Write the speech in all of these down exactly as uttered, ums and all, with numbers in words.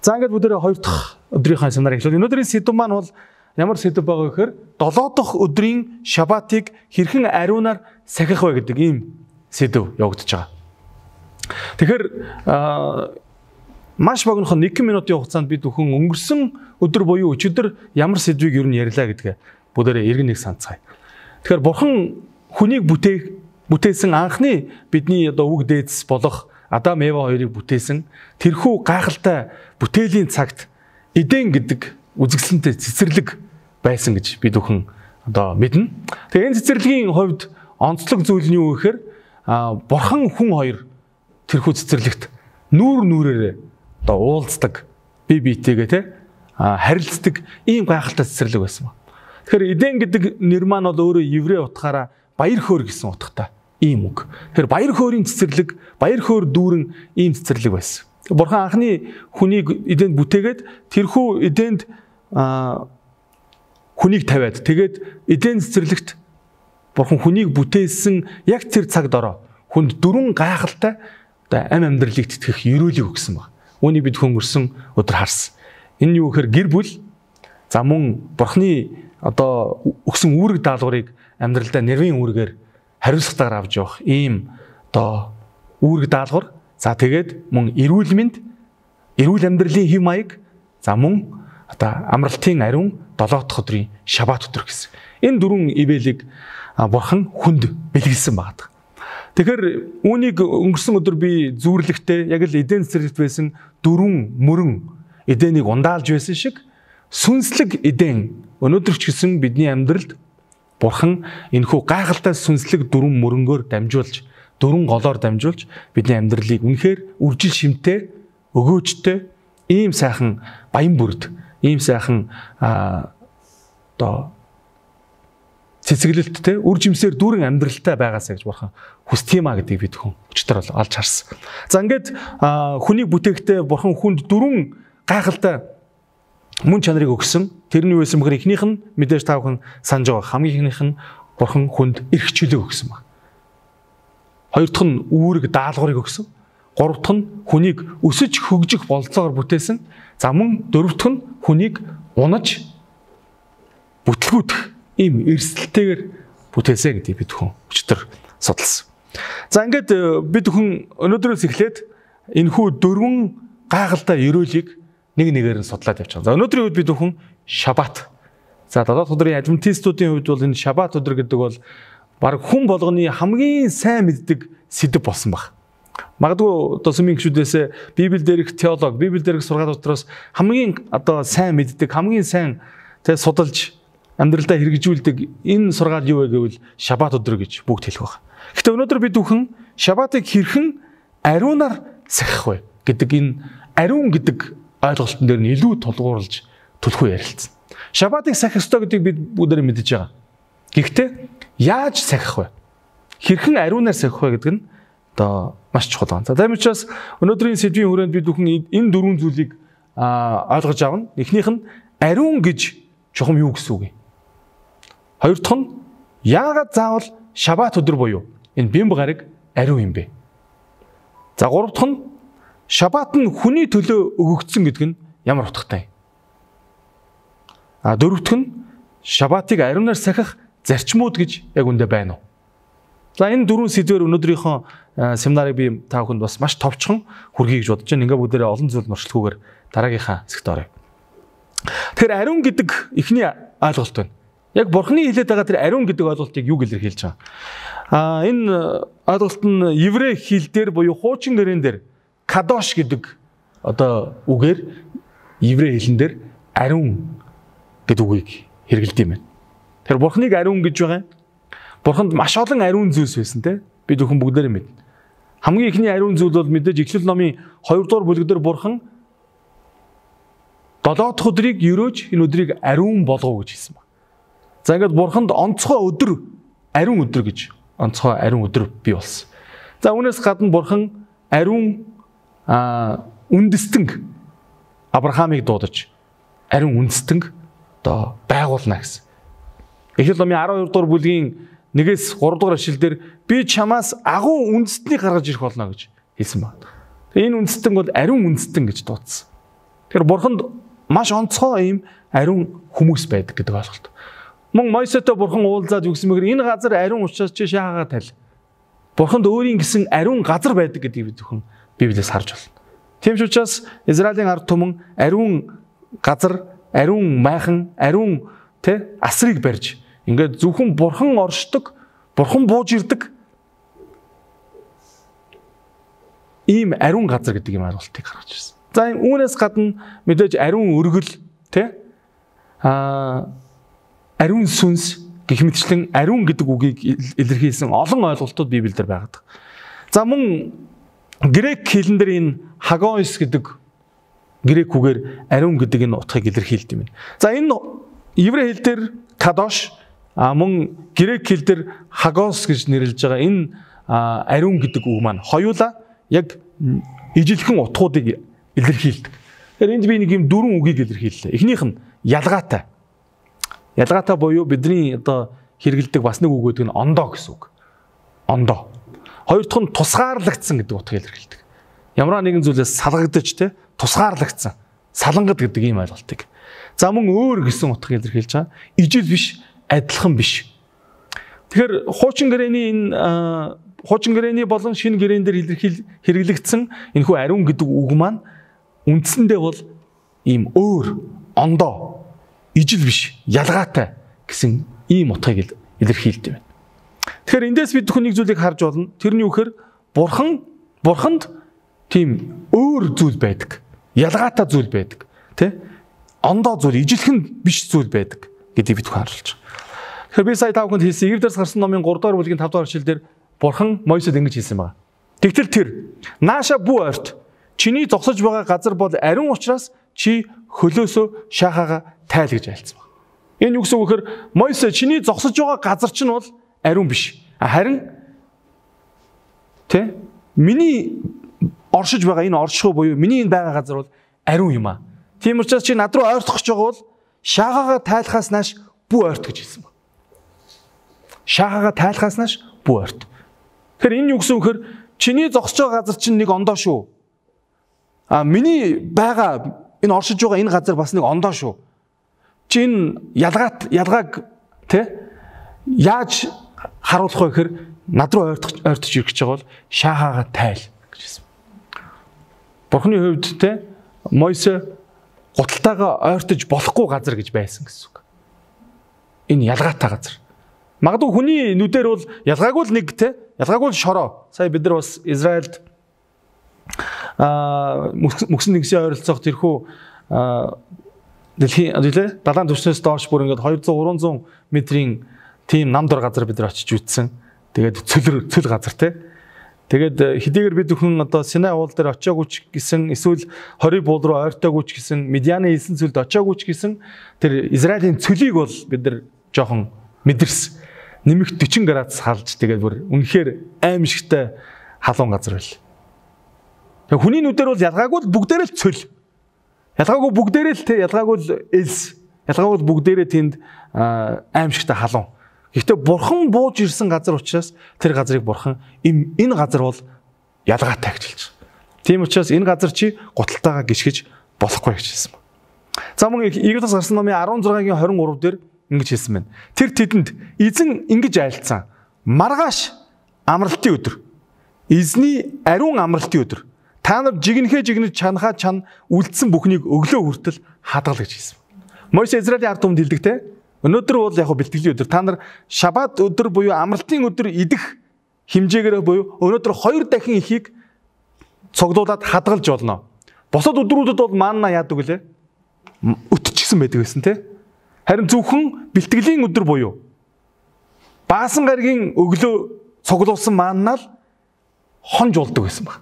За ингээд бүгдээ хоёр дахь өдрийнхөө семинар эхлэв. Өнөөдрийн сэдв маань бол ямар сэдв байгаа вэ гэхээр долоо дахь өдрийн шабатыг хэрхэн ариунаар сахих вэ гэдэг ийм сэдв явагдаж байгаа. Тэгэхээр маш богинохон нэг минутын хугацаанд бид бүхэн өнгөрсөн өдөр буюу өчигдөр ямар сэдвийг юу нь ярьлаа гэдгээ бүгдээ эргэн нэг санацгаая. Тэгэхээр бурхан хүнийг бүтээх бүтээсэн анхны бидний одоо үг дээдс болох Адам Ева хоёрыг бүтээсэн тэрхүү гайхалтай бүтээлийн цагт Эден гэдэг үзэсгэлэнтэй цэцэрлэг байсан гэж бид бүхэн одоо мэднэ. Тэгээ энэ цэцэрлэгийн хувьд онцлог зүйл нь юу гэхээр бурхан хүн хоёр тэрхүү цэцэрлэгт нүүр нүрээрээ одоо уулздаг, бие биетэйгээ те харилцдаг ийм гайхалтай цэцэрлэг байсан ба. Тэгэхээр Эден гэдэг нэр маань бол өөрөө еврей утгаараа баяр хөөр гэсэн утгатай ийм үг. Тэгэхээр баяр хөөрийн цэцэрлэг, баяр хөөр дүүрэн ийм цэцэрлэг байсан. Бурхан анхны хүнийг Эденд бүтээгээд тэрхүү Эденд хүнийг тавиад тэгээд Эден цэцэрлэгт бурхан хүнийг бүтээсэн яг тэр цагт ороо хүнд дөрвөн гайхалтай ам амьдралыг тэтгэх ерөөлийг өгсөн баг. Үүнийг бид хөнгөрсөн өдөр харсан. Энэ юу гэхээр гэр бүл за мөн бурханы одоо өгсөн үүрэг даалгаврыг амьдралдаа нэрвийн үүргээр хариуцлагатайгаар авч явах ийм одоо үүрэг даалгавар. За тэгээд мөн эрүүл мэнд, эрүүл амьдралын хэв маяг, за мөн одоо амралтын ариун долоо дахь өдрийн шабат өдөр гэсэн. Энэ дөрвөн ивэлийг бурхан хүнд бэлгэлсэн байна. Тэгэхээр үүнийг өнгөрсөн өдөр би зүүрлэхдээ яг л Эден цэцэрлэгт байсан дөрвөн мөрөн Эденийг ундаалж байсан шиг сүнслэг Эден өнөөдөр ч гэсэн бидний амьдралд бурхан энэхүү гайхалтай сүнслэг дөрвөн мөрөнгөөр дамжуулж, дөрвөн голоор дамжуулж бидний амьдралыг үнэхээр үржил шимтэй, өгөөжтэй, ийм сайхан баян бүрд, ийм сайхан одоо цэцэглэлттэй, үр жимсээр дүүрэн амьдралтай байгаасаа гэж бурхан хүсдэг юмаа гэдгийг бид хүн өчтөр бол олж харсан. За ингээд хүнийг бүтээхдээ бурхан хүнд дөрвөн гайхалтай мөн чанарыг өгсөн. Тэр нь юу байсан бэхээр эхнийх нь мэдээж та бүхэн санаж байгаа. Хамгийн эхнийх нь бурхан хүнд эрх чөлөө өгсөн баг. Хоёр дахь нь үүрэг даалгаврыг өгсөн. Гурав дахь нь хүнийг өсөж хөгжих бололцоогоор бүтээсэн. За мөн дөрөв дахь нь хүнийг унаж бүтлгүүдэх ийм эрсдэлтэйгээр бүтээсэ гэдгийг бид хүн өчтөр судалсан. За ингээд бид хүн өнөөдрөөс эхлээд энэхүү дөрвөн гайхалтай ерөөлийг нэг нэгээр нь судлаад явж байгаа. За өнөөдрийн үед бид хүн шабат. За долоо дахь өдрийн адвентистуудын хувьд бол энэ шабат өдөр гэдэг бол баг хүн болгоны хамгийн сайн мэддэг сэдэв болсон баг. Магадгүй одоо сүмийн гишүүдээс Библиэл дээрх теолог, Библиэл дээрх сургаал дотроос хамгийн одоо сайн мэддэг, хамгийн сайн тэ судалж амьдралдаа хэрэгжүүлдэг энэ сургаал юу вэ гэвэл шабат өдөр гэж бүгд хэлэх баг. Гэхдээ өнөөдөр бид бүхэн шабатыг хэрхэн ариунаар сахих вэ гэдэг энэ ариун гэдэг ойлголтын дээр нь илүү тулгуурлаж түлхүү ярилцсан. Шабатыг сахих ёстой гэдгийг бид бүгдээр мэдэж байгаа. Гэхдээ яаж сахих вэ? Хэрхэн ариунаар сахих вэ гэдэг нь одоо маш чухал байна. За тийм учраас өнөөдрийн сэдвийн хүрээнд бид бүхэн энэ дөрвөн зүйлийг ойлгож авна. Эхнийх нь ариун гэж чухам юу гэсэн үг юм? Хоёр дахь нь яагаад заавал шабат өдөр буюу энэ бямба гараг ариун юм бэ? За гурав дахь нь шабат нь хүний төлөө өгөгдсөн гэдэг нь ямар утгатай юм? А дөрөв дахь нь шабатыг ариунаар сахих зарчмууд гэж яг үндэ байна уу? За энэ дөрвөн сэдвээр өнөөдрийнхөө семинарыг би та бүхэнд бас маш товчхон хүргэе гэж бодож байна. Ингээ бүгдээрээ олон зүйл мөрчлөхгүйгээр дараагийнхаа хэсэгт оръё. Тэгэхээр ариун гэдэг эхний ойлголт байна. Яг бурхны хэлээд байгаа тэр ариун гэдэг ойлголтыг юу илэрхийлж байгаа? А энэ ойлголт нь еврей хэл дээр буюу хуучин гэрэн дээр кадош гэдэг одоо үгээр еврей хэлэн дээр ариун гэдэг үгийг хэрэглэдэг юм байна. Тэр бурхныг ариун гэж байгаа. Бурханд маш олон ариун зүйлс байсан те. Бид бүхэн бүгдээрээ мэднэ. Хамгийн ихний ариун зүйл бол мэдээж Эхлэл номын хоёр дугаар бүлэгдэр бурхан долоо дахь өдрийг ерөөж энэ өдрийг ариун болгоо гэж хэлсэн байна. За ингээд бурханд онцгой өдөр ариун өдөр гэж онцгой ариун өдөр бий болсон. За үүнээс гадна бурхан ариун үндэстэнг Авраамыг дуудаж ариун үндэстэнг одоо байгуулна гэсэн. Эхлэл номын арав хоёр дугаар бүлгийн нэгээс гурав дугаар ишлэлдэр би чамаас агуу үндэстнийг гаргаж ирэх болно гэж хэлсэн байна. Тэгээ энэ үндэстэн бол ариун үндэстэн гэж дуудсан. Тэгэхээр бурханд маш онцгой ийм ариун хүмүүс байдаг гэдэг ойлголт. Мөн Мойсетэй бурхан уулзаад юу гэсэн мэхээр энэ газар ариун учраас чи шаагаа тайл. Бурханд өөрийн гэсэн ариун газар байдаг гэдгийг бид зөвхөн Библиэс харж байна. Тийм ч учраас Израилийн ард түмэн ариун газар, ариун майхан, ариун тэ асрыг барьж ингээд зөвхөн бурхан оршдог, бурхан бууж ирдэг ийм ариун газар гэдэг юм ойлголтыг гаргаж ирсэн. За үүнээс гадна мэдээж ариун өргөл тэ аа ариун сүнс гэх мэтчлэн ариун гэдэг үгийг илэрхийлсэн олон ойлголтууд Библиэлд байдаг. За мөн грек хэлэн дээр энэ хагоис гэдэг грек үгээр ариун гэдэг энэ утгыг илэрхийлдэг юм. За энэ еврей хэл дээр кадош а мөн грек хэл дээр хагос гэж нэрлэж байгаа энэ ариун гэдэг үг маань хоёулаа яг ижилхэн утгуудыг илэрхийлдэг. Тэгэхээр энд би нэг юм дөрвөн үгийг илэрхийллээ. Эхнийх нь ялгаатай. Ялгаатай буюу бидний одоо хэрэгэлдэг бас нэг үг гэдэг нь ондоо гэсэн үг. Ондоо. Хоёр дахь нь тусгаарлагдсан гэдэг утгыг илэрхийлдэг. Ямар нэгэн зүйлээс салгагдаж те тусгаарлагдсан. Салангад гэдэг ийм ойлголтыг. За мөн өөр гэсэн утгыг илэрхийлж байгаа. Ижил биш, адилхан биш. Тэгэхээр хуучин гэрээний энэ хуучин гэрээний болон шинэ гэрээн дээр илэрхийл хэрэглэгдсэн энэхүү ариун гэдэг үг маань үндсэндээ бол ийм өөр, ондоо, ижил биш, ялгаатай гэсэн ийм утгыг илэрхийлдэг байна. Тэгэхээр эндээс бид хүн нэг зүйлийг харж болно. Тэрний үхээр бурхан бурханд тийм өөр зүйл байдаг. Ялгаатай зүйл байдаг. Тэ? Ондоо зүйл, ижилхэн биш зүйл байдаг гэдгийг бид харуулж байгаа. Тэгэхээр би сая тавханд хэлсэн Эвдэрс гарсан номын гурав дахь бүлгийн тавд дахь ишлэлдэр бурхан Мойсед ингэж хэлсэн байна. Тэгтэл тэр нааша бүү ойрт чиний зогсож байгаа газар бол ариун учраас чи хөлөөсөө шахаага тайл гэж айлцсан байна. Энэ юу гэсэн үг вэхээр Мойсед чиний зогсож байгаа газар чинь бол ариун биш. Харин тэ миний оршиж байгаа энэ оршихуй буюу миний энэ байгаа газар бол ариун юм аа. Тийм учраас чи над руу ойртох гэж байгаа бол шахаага тайлхаас нааш бүү ойрт гэж хэлсэн байна. Шахаага тайлхаас нааш бүү ойрт. Тэгэхээр энэ юу гэсэн үг вэхээр чиний зогсож байгаа газар чинь нэг ондоо шүү. А миний байгаа энэ оршиж байгаа энэ газар бас нэг ондоо шүү. Чи энэ ялгаат ялгааг тэ яаж харуулах вэ гэхээр над руу ойртох ойртож ирэх гэж байгаа бол шахаага тайл гэж хэлсэн. Бурхны хувьд тэ Мойсе гуталтайгаа ойртож болохгүй газар гэж байсан гэсэн үг. Энэ ялгаатай газар. Магадгүй хүний нүдээр бол ялгаагүй л нэг те ялгаагүй л шороо. Сая бид нар бас Израильд аа мөксөн нэгсийн ойролцоох тэрхүү дэлхийн үлээ далайн түвшнээс доош бүр ингээд двести гуриста метрийн тийм намдор газар бид нар очиж үзсэн. Тэгээд цөл цөл газар те. Тэгээд хэдийгээр бид бүхэн одоо Синай уул дээр очиагүй ч гэсэн эсвэл хориг буул руу ойртоогүй ч гэсэн Медианы хэлсэн цөлд очиагүй ч гэсэн тэр Израилийн цөлийг бол бид нар жоохон мэдэрсэн. Нэмэх forty градус халж тэгээд бүр үнэхээр аимшигтай халуун газар байл. Тэгээ хүний нүдээр бол ялгаагүй л бүгдээрээ л цөл. Ялгаагүй бүгдээрээ л те ялгаагүй л элс. Ялгаагүй бүгдээрээ тэнд аимшигтай халуун. Гэхдээ бурхан бууж ирсэн газар учраас тэр газрыг бурхан энэ газар бол ялгаатай гэж хэлж байгаа. Тийм учраас энэ газар чи гуталтайгаа гიშгэж болохгүй гэж хэлсэн ба. За мөн Эвдэрс гарсан номын sixteen-гийн twenty-three дээр ингэж хэлсэн байна. Тэр тэдэнд эзэн ингэж айлцсан. Маргааш амралтын өдөр. Эзний ариун амралтын өдөр. Та нар жигнэхэ жигнэж чанахаа чан үлдсэн бүхнийг өглөө хүртэл хадгал гэж хэлсэн. Мойсе Израилийн ард түмэнд хэлдэг те. Өнөөдөр бол яг бэлтгэлийн өдөр. Та нар шабат өдөр буюу амралтын өдөр идэх хэмжээгээр буюу өнөөдөр хоёр дахин ихийг цогдуулаад хадгалж болно. Босод өдрүүдэд бол маанна яадаг үлээ. Өтчихсэн байдаг гэсэн те. Харин зөвхөн бэлтгэлийн өдөр буюу баасан гаригийн өглөө цуглуулсан мааннаа л хонж болдог гэсэн баг.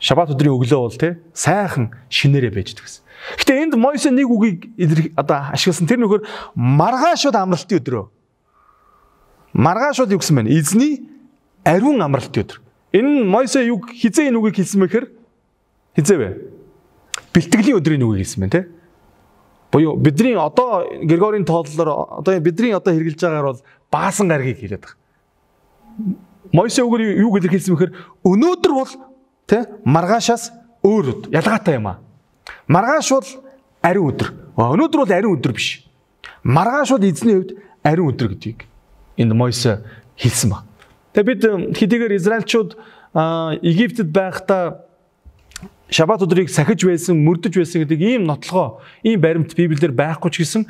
Шабат өдрийн өглөө бол те сайхан шинээрээ байждаг гэсэн. Гэтэ энд Мойсе нэг үгийг одоо ашигласан. Тэр нөхөр маргаашууд амралтын өдрөө. Маргаашууд юу гэсэн бэ? Эзний ариун амралтын өдөр. Энэ Мойсе юу хизээ энэ үгийг хэлсэн мэхээр хизээ вэ? Бэлтгэлийн өдрийн үгийг хэлсэн байна те. Буюу бидний одоо Григорийн тооллоор одоо бидний одоо хэрэгжилж байгаагаар бол баасан гаргийг хэлээд байгаа. Мойсе үгээр юу гэж хэлсэн мэхээр өнөөдөр бол тэ маргаашаас өөр ялгаатай юм аа. Маргааш бол ариун өдөр. Өнөөдөр бол ариун өдөр биш. Маргааш бол эзний хувьд ариун өдөр гэдгийг энд Мойсе хэлсэн ба. Тэгээ бид хэдийгээр Израильчууд Египтэд байхдаа Шабат өдрийг сахиж байсан, мөрдөж байсан гэдэг ийм нотлогоо, ийм баримт Библиэлд байхгүй ч гэсэн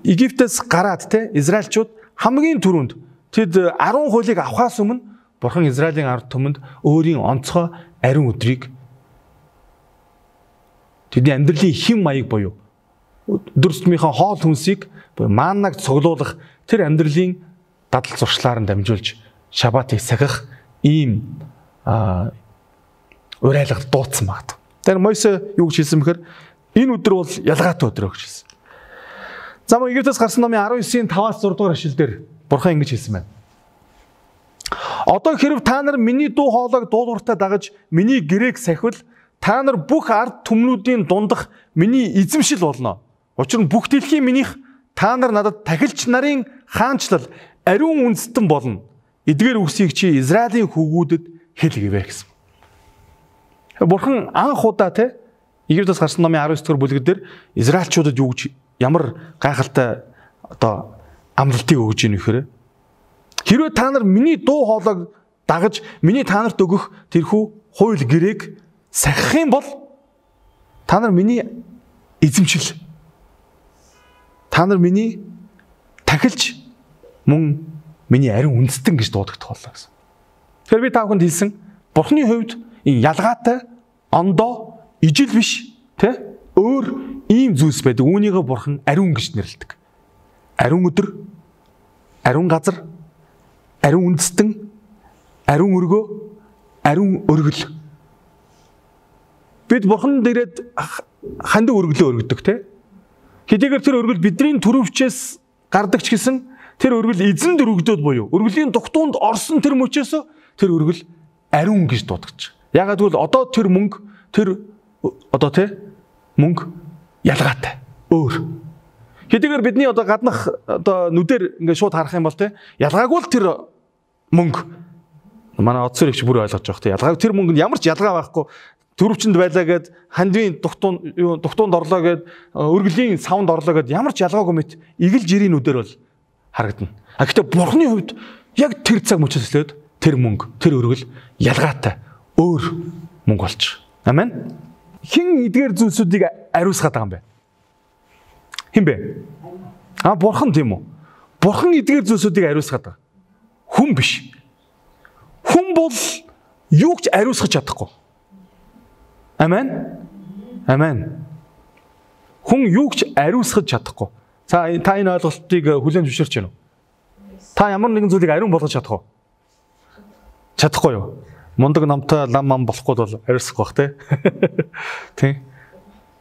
Египтээс гараад те Израильчууд хамгийн түрүүнд тэд арван хуулийг авахаас өмнө Бурхан Израилийн ард түмэнд өөрийн онцгой ариун өдрийг тэдний амьдралын хэм маяг буюу өдөр тутмынхаа хоол хүнсийг мааннаг цуглуулах тэр амьдралын дадал зуршлаар нь дамжуулж Шабатыг сахих ийм урайлгад дуудсан багт. Тэр Мойсе юу гэж хэлсэн бэхээр энэ өдөр бол ялгаатай өдөр гэж хэлсэн. За мөн Египтээс гарсан номын арван девятийн таваас зураг дугаар ишлэл дээр Бурхан ингэж хэлсэн байна. Одоо хэрв та нар миний дуу хоолойг дуулууртаа дагаж миний гэрээг сахивал та нар бүх ард түмнүүдийн дундах миний эзэмшил болно. Учир нь бүх дэлхийн минийх та нар надад тахилч нарын хаанчлал ариун үндэстэн болно. Эдгээр үгсийг чи Израилийн хүүгүүдэд хэл гэвэ гэсэн. Бурхан анх удаа те Египтээс гарсан номын арван девять дугаар бүлэг дээр Израильчуудад юу гэж ямар гайхалтай одоо амлалтыг өгж ийн вэхээр хэрвээ та нар миний дуу хоолойг дагаж миний та нарт өгөх тэрхүү хууль гэрээг сахих юм бол та нар миний эзэмшил та нар миний тахилч мөн миний ариун үндэстэн гэж дуудагдах боллоо гэсэн. Тэгэхээр би та бүхэнд хэлсэн Бурханы хувьд энэ ялгаатай ондоо ижил биш тэ өөр ийм зүйлс байдаг. Үүнийгээ Бурхан ариун гэж нэрлэдэг. Ариун өдөр, ариун газар, ариун үндэстэн, ариун өргөө, ариун өргөл. Бид Бурхан дээрээ хандаг өргөлөө өргөдөг тэ. Хэдийгээр тэр өргөл бидний төрөвчээс гардаг ч гэсэн тэр өргөл эзэнд өргөдөд буюу өргөлийн дугтуунд орсон тэр мөчөөс тэр өргөл ариун гэж дуудагдаж. Ягаад гэвэл одоо тэр мөнгө тэр одоо тэ мөнгө ялгаатай өөр. Хэдийгээр бидний одоо гаднах одоо нүдээр ингээд шууд харах юм бол тэ ялгаагүй л тэр мөнгө манай оцсорэгч бүр ойлгож байгаа тэ ялгааг тэр мөнгөнд ямар ч ялгаа байхгүй төрөвчөнд байлаа гэд хандвийн дугтуун юу дугтуунд орлоо гэд өргөлийн савнд орлоо гэд ямар ч ялгаагүй мэт игэл жирийн нүдээр бол харагдана. А гэхдээ Бурханы хувьд яг тэр цаг мөчөөс лээд тэр мөнгө тэр өргөл ялгаатай өөр мөнгө болж. Амен. Хин эдгээр зүйлсүүдийг ариусгаад байгаа юм бэ? Хин бэ? А Бурхан тийм үү? Бурхан эдгээр зүйлсүүдийг ариусгаад байгаа. Хүн биш. Хүн бол юу ч ариусгах чадахгүй. Амен. Амен. Хүн юу ч ариусгах чадахгүй. За та энэ ойлголтыг хүлээн зөвшөөрч байна уу? Та ямар нэгэн зүйлийг ариун болгож чадах уу? Чадахгүй юу? Мундаг намтай лам мам болохгүй бол ариусгах бах те. Тийм.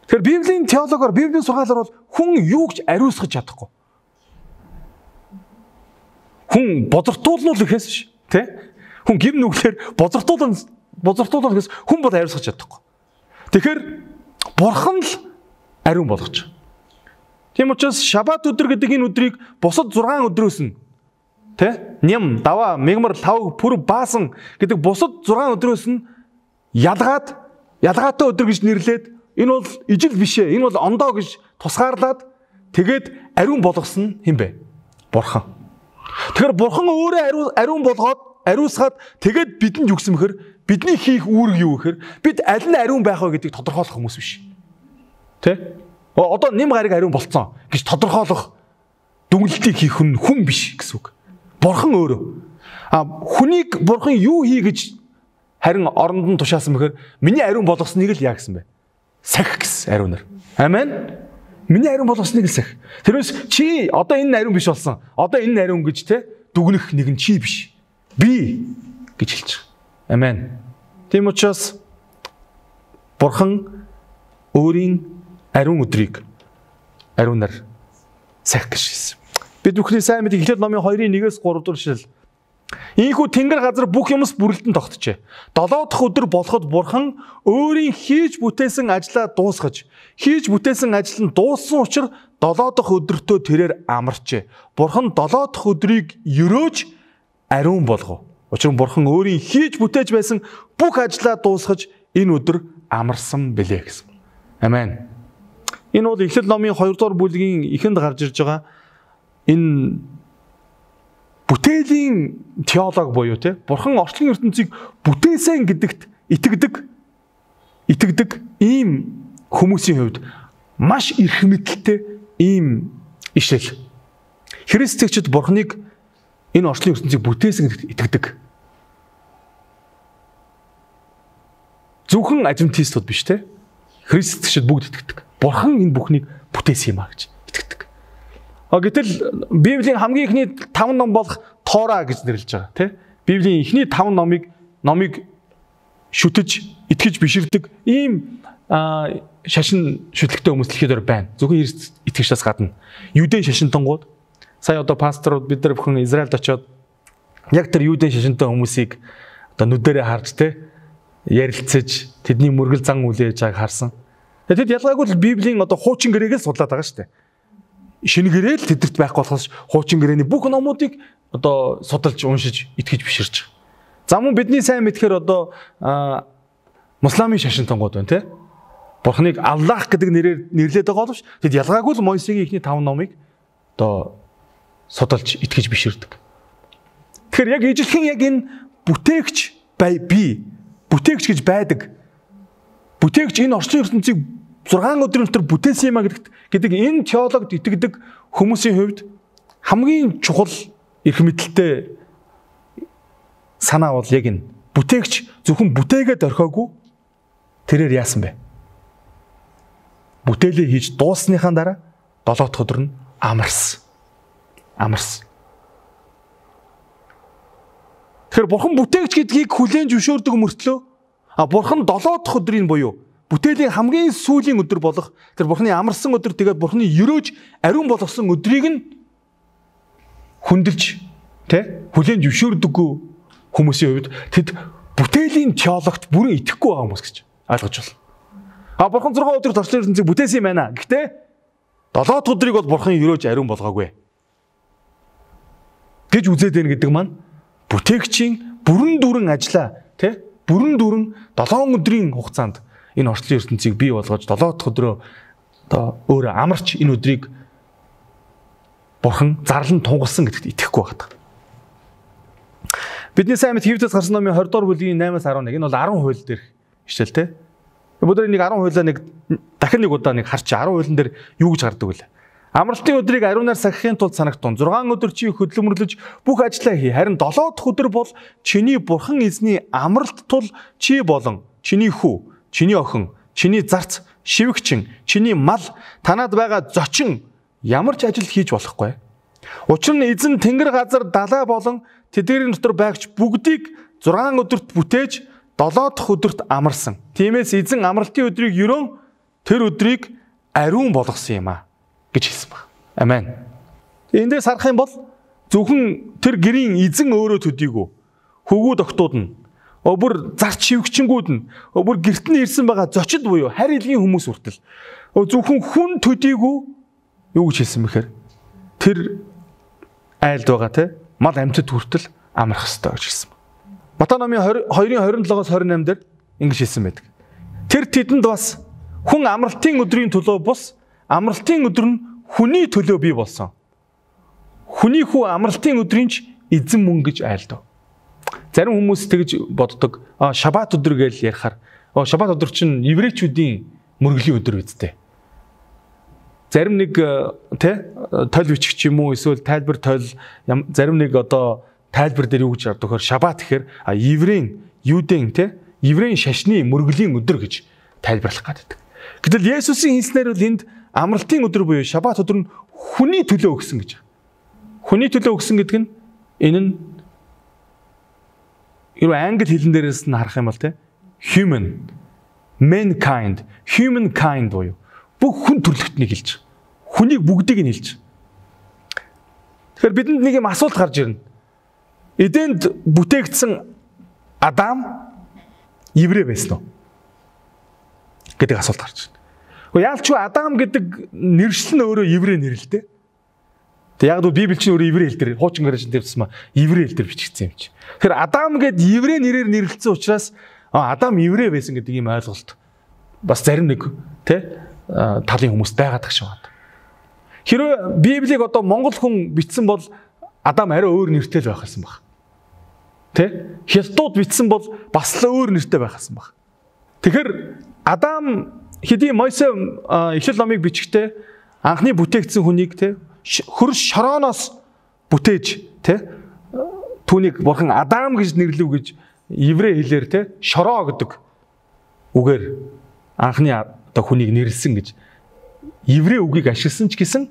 Тэгэхээр Библийн теологоор, Библийн сургаалаар бол хүн юу ч ариусгах чадахгүй. Хүн бозортуулна л гэхээс ш, те? Хүн гим нүглээр бозортуулна, бозортуулна гэхээс хүн бол ариусгах чадахгүй. Тэгэхээр Бурхан л ариун болгож. Тийм учраас Шабат өдөр гэдэг энэ өдрийг бусад зургаан өдрөөс нь тэ нэм, даваа, мегмар, лав, пүр, баасан гэдэг бусад зургаан өдрөөс нь ялгаад ялгаатай өдөр гэж нэрлээд энэ бол ижил биш ээ, энэ бол ондоо гэж тусгаарлаад тэгээд ариун болгосон хэм бэ? Бурхан. Тэгэхээр Бурхан өөрөө ариун болгоод ариусгаад тэгээд бидэнд юу гэсэн бэхэр бидний хийх үүрэг юу гэхээр бид аль нь ариун байх вэ гэдгийг тодорхойлох хүмүүс биш. Тэ? Одоо нэм гариг ариун болцсон гэж тодорхойлох дүгнэлтийг хийх хүн хүн биш гэсэн үг. Бурхан өөрөө. А хүнийг Бурхан юу хий гэж харин оронд нь тушаасан бэхээр миний ариун болгосныг л яа гэсэн бэ? Сахих гэсэн ариунаар. Амен. Миний ариун болгосныг л сахих. Тэрээс чи одоо энэ ариун биш болсон. Одоо энэ ариун гэж те дүгнэх нэг нь чи биш. Би гэж хэлж байгаа. Амен. Тийм учраас Бурхан өөрийн ариун өдрийг ариунаар сахих гэж хэлсэн. Бид бүхний сайн мэдээ Эхлэл номын хоёрын нэгээс гурав дахь ишлэл. Ийхүү тэнгэр газар бүх юмс бүрэлдэн тогтжээ. Долоо дахь өдөр болоход Бурхан өөрийн хийж бүтээсэн ажлаа дуусгаж, хийж бүтээсэн ажил нь дууссан учраас долоо дахь өдөртөө тэрээр амарчээ. Бурхан долоо дахь өдрийг өрөөж ариун болгов. Учир нь Бурхан өөрийн хийж бүтээж байсан бүх ажлаа дуусгаж энэ өдөр амарсан билээ гэсэн. Амен. Энэ бол Эхлэл номын хоёр дугаар бүлгийн эхэнд гарч ирж байгаа энэ бүтээлийн теологи буюу те Бурхан орчлон ертөнцийг бүтээсэн гэдэгт итгэдэг итгэдэг ийм хүмүүсийн хувьд маш их мэдэлтэй ийм ишэл. Христчүүд Бурханыг энэ орчлон ертөнцийг бүтээсэн гэдэгт итгэдэг. Зөвхөн адвентистууд биш те. Христчүүд бүгд итгэдэг. Бурхан энэ бүхнийг бүтээсэн юм а гэж итгэдэг. А гэтэл Библийн хамгийн ихний таван ном болох Тора гэж нэрлэж байгаа тий. Библийн ихний таван номыг номыг шүтэж, итгэж биширдэг ийм шашин шүтлэгтэй хүмүүс дэлхийд байна. Зөвхөн итгэгчдээс гадна. Юудын шашинтангууд сая одоо пасторууд бид нар бүхэн Израильд очиод яг тэр юудын шашинтай хүмүүсийг одоо нүдэрээ харж тий ярилцаж тэдний мөргөл зан үлээж байгааг харсан. Тэгэд ялгаагүй л Библийн одоо хуучин гэрээг л судлаад байгаа шүү дээ. Шинэ гэрээл тэдэрт байхгүй болохоос хуучин гэрэний бүх номуудыг одоо судалж уншиж итгэж биширч байгаа. За мөн бидний сайн мэдхээр одоо мусламын шашинтангууд байна тий. Бурханыг Аллах гэдэг нэрээр нэрлэдэг байгаа боловч тэд ялгаагүй л Мойсегийн ихний таван номыг одоо судалж итгэж биширдэг. Тэгэхээр яг ижилхэн яг энэ бүтээгч бий бүтээгч гэж байдаг. Бүтээгч энэ орчлон ертөнцийг зургаан өдрийн дотор бүтээсэн юм а гэдэгт гэдэг энэ теологид итгэдэг хүмүүсийн хувьд хамгийн чухал эрх мэдэлтэй санаа бол яг энэ. Бүтээгч зөвхөн бүтээгээд орхиогүй тэрээр яасан бэ? Бүтээлээ хийж дуусныхаа дараа долоо дахь өдөр нь амарсан. Амарсан. Тэгэхээр Бурхан бүтээгч гэдгийг хүлээн зөвшөөрдөг мөртлөө а Бурхан долоо дахь өдрийн буюу бүтээлийн хамгийн сүүлийн өдөр болох тэр Бурханы амарсан өдөр тэгээд Бурханы ерөөж ариун болгосон өдрийг нь хүндэлж тэ хүлээн зөвшөөрдөггүй хүмүүсийн хувьд тэд бүтээлийн теологт бүрэн итгэхгүй байгаа хүмүүс гэж ойлгож байна. А Бурхан зургаан өдөр орчлон ертөнцийг бүтээсэн юм байна. Гэхдээ долоо дахь өдрийг бол Бурхан ерөөж ариун болгоогүй гэж үзээд байна гэдэг маань бүтээгчийн бүрэн дүрэн ажиллаа тий бүрэн дүрэн долоон өдрийн хугацаанд энэ орчлон ертөнцийг бий болгож долоо дахь өдрөө одоо өөрөө амарч энэ өдрийг Бурхан зарлан тунгалсан гэдэгт итгэхгүй байгаа. Бидний сайн мэд Хевдэс гарсан номын двадцать дугаар бүлгийн наймаас арван нэг энэ бол десять хууль дээр хичээл тий. Бүгд нэг десять хуулиа нэг дахин нэг удаа нэг харч десять хуулийн дээр юу гэж гардаг вэ? Амралтын өдрийг ариунаар сахихын тулд санагтун. зургаан өдөр чи хөдөлмөрлөж бүх ажлаа хий. Харин долоо дахь өдөр бол чиний Бурхан эзний амралт тул чи болон чиний хүү, чиний охин, чиний зарц, шивгчин, чиний мал, танад байгаа зочин ямар ч ажил хийж болохгүй. Учир нь эзэн тэнгэр газар далай болон тэдгэрийн дотор байгч бүгдийг зургаан өдөрт бүтээж долоо дахь өдөрт амарсан. Тиймээс эзэн амралтын өдрийг ерөн тэр өдрийг ариун болгосон юм а гэж хэлсэн баг. Амен. Эндээс харах юм бол зөвхөн тэр гэрийн эзэн өөрөө төдийгүй хөвгүүд октууд нь өөр зарч шивгчингүүд нь өөр гэрт нь ирсэн байгаа зочид буюу харь илгийн хүмүүс хүртэл зөвхөн хүн төдийгүй юу гэж хэлсэн бэхээр тэр айлд байгаа те мал амьтад хүртэл амрах ёстой гэж хэлсэн. Матай номын двадцать хоёрын двадцать седьмоос двадцать восемь дээр ингэж хэлсэн байдаг. Тэр тэдэнд бас хүн амралтын өдрийн төлөө бус амралтын өдөр нь хүний төлөө бий болсон. Хүний хүү амралтын өдрийн ч эзэн мөн гэж айлдав. Зарим хүмүүс тэгж боддог. Аа шабат өдөр гэж ярихаар оо шабат өдөр чинь еврейчүүдийн мөргөлийн өдөр үсттэй. Зарим нэг тэ тойл бичгч юм уу эсвэл тайлбар тойл зарим нэг одоо тайлбар дээр юу гэж ярьдаг вэ? Шабат гэхээр еврейн, юудын тэ еврейн шашны мөргөлийн өдөр гэж тайлбарлах гэдэг. Гэтэл Есүсийн хэлснээр бол энд амралтын өдөр буюу шабат өдөр нь хүний төлөө өгсөн гэж. Хүний төлөө өгсөн гэдэг нь энэ нь юу англи хэлэн дээрээс нь харах юм бол тэ human, mankind, humankind буюу бүх хүн төрлөختнийг хэлж байгаа. Хүнийг бүгдийг нь хэлж байгаа. Тэгэхээр бидэнд нэг юм асуулт гарч ирнэ. Эденд бүтээгдсэн Адам еврей байсан уу? Гэдэг асуулт гарч ирнэ. Яалч юу Адам гэдэг нэршил нь өөрөө еврей нэр л дээ. Тэг яг л Библи чинь өөрөө еврей хэл дээр хуучин гэрээжин дээр тусмаа еврей хэл дээр бичигдсэн юм чи. Тэгэхээр Адам гэд еврей нэрээр нэрлэлсэн учраас Адам еврей байсан гэдэг ийм ойлголт бас зарим нэг тэ талын хүмүүс байгаад тах шиг байна. Хэрвээ Библийг одоо монгол хүн бичсэн бол Адам арай өөр нэртэй л байх байсан баг. Тэ? Хятадууд бичсэн бол бас л өөр нэртэй байх байсан баг. Тэгэхээр Адам хэдий Мойсе Эхлэл номыг бичихтэй анхны бүтээгдсэн хүнийг тэ хөрш шорооноос бүтээж тэ түүнийг бурхан Адам гэж нэрлэв гэж еврей хэлээр тэ шороо гэдэг үгээр анхны одоо хүнийг нэрлсэн гэж еврей үгийг ашигласан ч гэсэн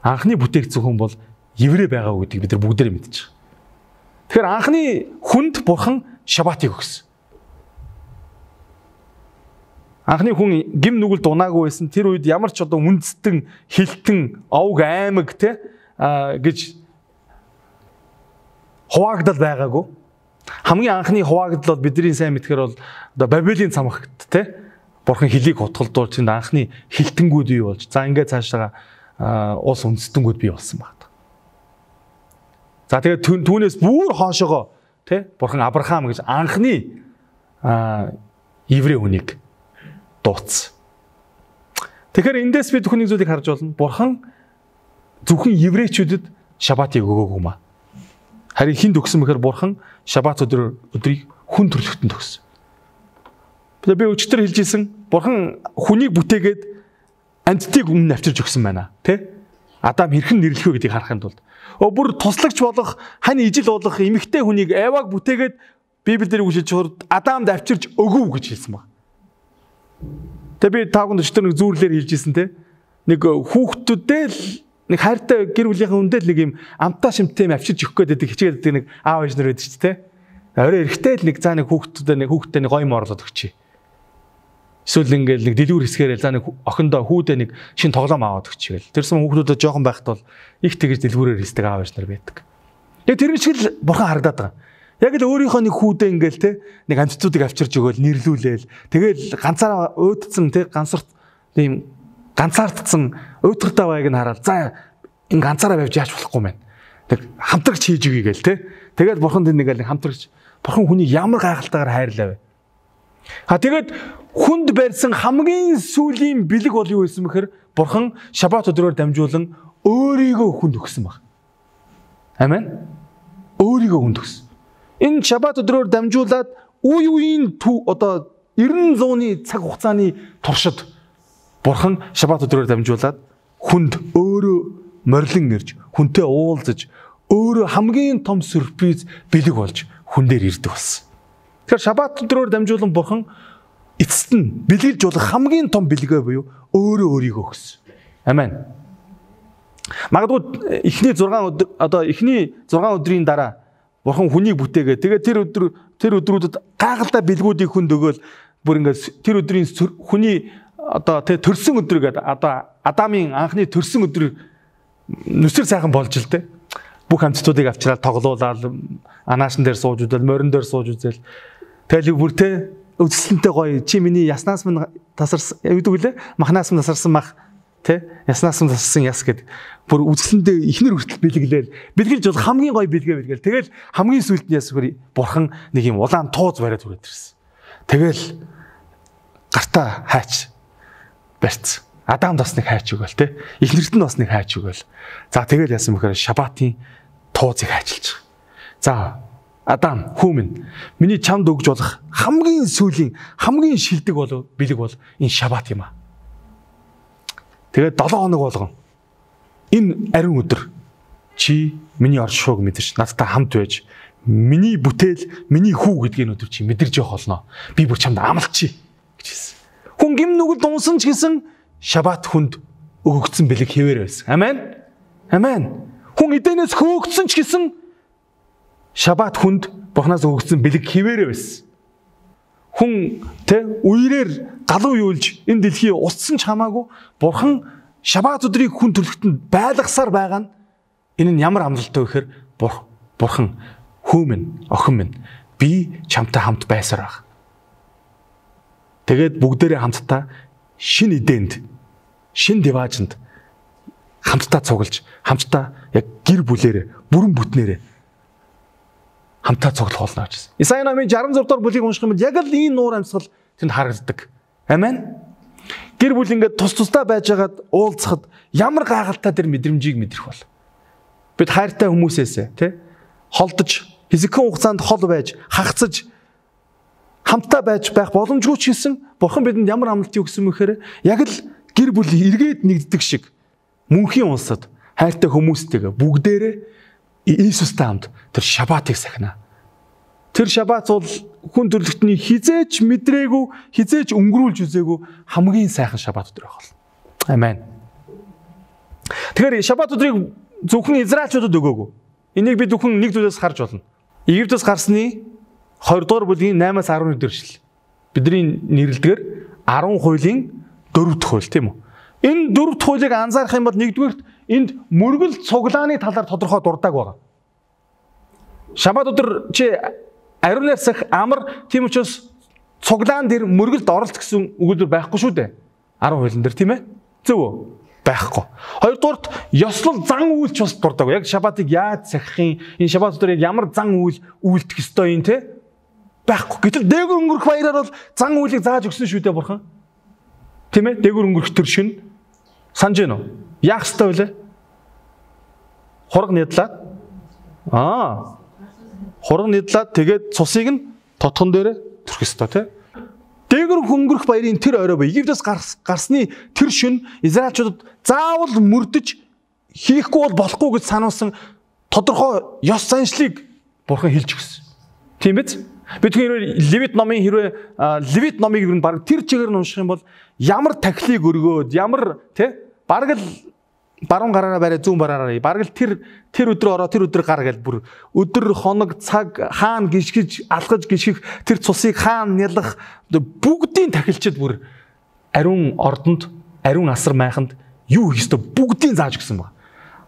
анхны бүтээгдсэн хүн бол еврей байгаа гэдгийг бид нар бүгдээрээ мэдж байгаа. Тэгэхээр анхны хүнд бурхан шабатыг өгсөн. Анхны хүн гим нүгэл дунаагүй байсан. Тэр үед ямар ч одоо үндэстэн, хилтэн, овг аймаг те гэж хуваагдал байгаагүй. Хамгийн анхны хуваагдал бол бидний сайн мэдхээр бол одоо Бабилийн цамхагт те бурхан хөлийг хутгалдуулж тэнд анхны хилтэнгүүд бий болж за ингээд цаашаа уус үндэстэнгүүд бий болсон байна. За тэгээд түүнээс бүр хоошоогоо те бурхан Авраам гэж анхны еврей хүнийг дууц. Тэгэхээр эндээс бид хүний зүйлийг харж болно. Бурхан зөвхөн еврейчүүдэд шабатыг өгөөгүй маа. Харин хинд өгсөн мэхээр бурхан шабат өдөр өдрийг хүн төрлөختөнд өгсөн. Би өчтөр хэлжсэн бурхан хүнийг бүтээгээд амьдтыг өмнө авчирч өгсөн байна. Тэ? Адам хэрхэн нэрлэх вэ гэдгийг харахын тулд. Өө бүр туслагч болох, хань ижил болох эмэгтэй хүнийг Еваг бүтээгээд Библиэр үгшилж хурд Адамд авчирч өгөв гэж хэлсэн баг. Тэгээ би таагүй өчтөр нэг зүүрлэр хэлжсэн те. Нэг хүүхдүүдээ л нэг хайртай гэр бүлийнхээ үндэ л нэг юм амтаа шимттэй юм авчирч өгөх гээд хичээгээд байдаг нэг аав ээж нар байдаг ч те. Орой эрэхтэй л нэг заа нэг хүүхдүүдээ нэг хүүхдтэй нэг гоё морлоод өгчээ. Эсвэл ингээл нэг дэлгүүр хэсгээрээ за нэг охиндоо хүүдээ нэг шин тоглоом аваад өгчээл. Тэрсэн хүүхдүүдэд жоохон байхад бол их тэгж дэлгүүрээр хэлдэг аав ээж нар байдаг. Тэгээ тэр шиг л бурхан харагдаад байгаа. Яг л өөрийнхөө нэг хүүдээ ингээл те нэг амьтдуудыг авчирч өгөөл нэрлүүлээл тэгэл ганцаараа уйдцсан те гансарт тийм ганцаардсан уйдгартай байг нь хараад за ин ганцаараа байвч яаж болохгүй мэн. Тэг хамтрагч хийж өгье гээл те. Тэгээд бурхан тэр нэг л хамтрагч бурхан хүнийг ямар гайхалтайгаар хайрлаа вэ. А тэгээд хүнд барьсан хамгийн сүүлийн бэлэг бол юу байсан бэхээр бурхан шабат өдрөөр дамжуулан өөрийгөө хүнд өгсөн баг. Амен. Өөрийгөө хүнд өгсөн. Энэ шабат өдрөөр дамжуулаад үе үеийн одоо эрдэнэ зууны цаг хугацааны туршид бурхан шабат өдрөөр дамжуулаад хүнд өөрөө морилон ирж, хүнтэй уулзаж, өөрөө хамгийн том сюрприз бэлэг болж хүн дээр ирдэг болсон. Тэгэхээр шабат өдрөөр дамжуулан бурхан эцэст нь бэлгэлж болох хамгийн том бэлгээ буюу өөрөө өөрийгөө өгсөн. Амен. Магадгүй эхний зургаан өдөр одоо эхний зургаан өдрийн дараа бурхан хүнийг бүтээгээ. Тэгээд тэр өдөр тэр өдрүүдэд гайхалтай бэлгүүдийг хүнд өгөөл бүр ингээд тэр өдрийн хүний одоо тэ төрсөн өдөр гэдэг одоо Адамын анхны төрсөн өдөр нүсэр сайхан болж л тэ. Бүх амьтдуудыг авчраад тоглуулаад анаашин дээр сууж үзэл, морин дээр сууж үзэл. Тэгэл бүр тэ үзэсгэлэнтэй гоё чи миний яснаас минь тасарсан гэдэг үлээ махнаас минь тасарсан мах тэ яснаас минь тасарсан яс гэдэг бүр үзэсгэлэндээ ихнэр хүртэл бэлгэлээл бэлгэлж бол хамгийн гоё бэлгээ бэлгээл тэгэл хамгийн сүүлд нь яс хөрий бурхан нэг юм улаан тууз бариад хүрээд ирсэн. Тэгэл гартаа хайч барьц. Адам бас нэг хайч өгөөл тэ ихнэрт нь бас нэг хайч өгөөл. За тэгэл яасан бэхээр шабатын туузыг хайчилж байгаа. За Адам хүмүн миний чамд өгж болох хамгийн сүүлийн хамгийн шилдэг бол бэлэг бол энэ шабат юм аа. Тэгээд долоо хоног болгон энэ ариун өдөр чи миний оршихуйг мэдэрч надтай хамт байж миний бүтээл миний хүү гэдгийг өдөр чи мэдэрж явах болно. Би бүр чамд амлачи гэж хэлсэн. Хүн гим нүгэл дунсан ч гэсэн шабат хүнд өгөгдсөн бэлэг хэвээр байсан. Амен. Амен. Хүн эдэнээс хөөгдсөн ч гэсэн шабат хүнд бурхнаас өгөгдсөн бэлэг хэвээрээ байсан. Хүн тэ үерээр галуу юулж энэ дэлхий устсан ч хамаагүй бурхан шабат өдрийг хүн төрлөختөнд байлгасаар байгаа нь энэ нь ямар амлалтай вэ гэхээр бурхан хөөмөн охин минь би чамтай хамт байсаар баг. Тэгээд бүгдээрээ хамтдаа шин эдэнд шин диваажинд хамтдаа цуглаж хамтдаа яг гэр бүлээрээ бүрэн бүтнээрээ хамтаа цуглах болно гэж. Исая номын шестдесет и шесть дугаар бүлгийг унших юм бол яг л энэ нуур амьсгал тэнд харагддаг. Амен. Гэр бүл ингээд тус тусдаа байжгаад уулзахад ямар гайхалтай тэр мэдрэмжийг мэдрэх бол. Бид хайртай хүмүүсээсээ тий холдож хэсэгхэн хугацаанд хол байж хагцаж хамтаа байж байх боломжгүй ч гэсэн Бурхан бидэнд ямар амлалтыг өгсөн мөхөр яг л гэр бүл эргээд нэгддэг шиг мөнхийн улсад хайртай хүмүүстэйгээ бүгдээрээ Иесустай хамт тэр шабатыг сахина. Тэр шабат бол хүн төрлөختний хизээч мэдрээгүй, хизээч өнгөрүүлж үзээгүй хамгийн сайхан шабат өдөр байх бол. Амен. Тэгэхээр шабат өдрийг зөвхөн израильчуудад өгөөгүй. Энийг бид зөвхөн нэг зүйлээс харж болно. Египтээс гарсны хоёр дугаар бүлгийн наймаас арван өдөр шил. Бидний нэрлэлдгээр арван хуулийн дөрөв дэх хууль тийм үү? Энэ дөрөв дэх хуулийг анзаарах юм бол нэгдүгээрт энд мөргөл цуглааны талаар тодорхой дурдаг байгаа. Шабат өдөр чи ариун нарсах амар тийм учраас цуглаан дээр мөргөлд оролт гэсэн өгүүлбэр байхгүй шүү дээ. арван хуулийн дээр тийм ээ? Зөв үү? Байхгүй. Хоёрдугаарт ёслол зан үйлч бас дурдаг. Яг шабатыг яаж сахихын, энэ шабат өдөр ямар зан үйл үйлдэх ёстой юм те? Байхгүй. Гэтэл дээгүр өнгөрөх баяраар бол зан үйлийг зааж өгсөн шүү дээ Бурхан. Тийм ээ? Дээгүр өнгөрөх төр шин санаж гэнэ үү? Яах ёстой вэ? Хураг нядлаад аа. Хураг нядлаад тэгээд цусыг нь тотхон дээр төрөх ёстой те? Дээгүр хөнгөрөх баярын тэр орой бо Египтээс гарсны тэр шөнө израильчуудад заавал мөрдөж хийхгүй бол болохгүй гэж сануулсан тодорхой ёс заншлыг Бурхан хэлж өгсөн. Тийм биз? Бид хэрвээ Левит номын хэрвээ Левит номыг ер нь баг тэр чигээр нь унших юм бол ямар тахилыг өргөөд ямар тий баг л баруун гараараа барай зүүн бараараа баг л тэр тэр өдрөө ороо тэр өдөр гар гэл бүр өдөр хоног цаг хаана гიშгэж алхаж гიშгэх тэр цусыг хаана нялах бүгдийн тахилчид бүр ариун ордонд ариун асар майханд юу хийх ёстой бүгдийн зааж өгсөн баг.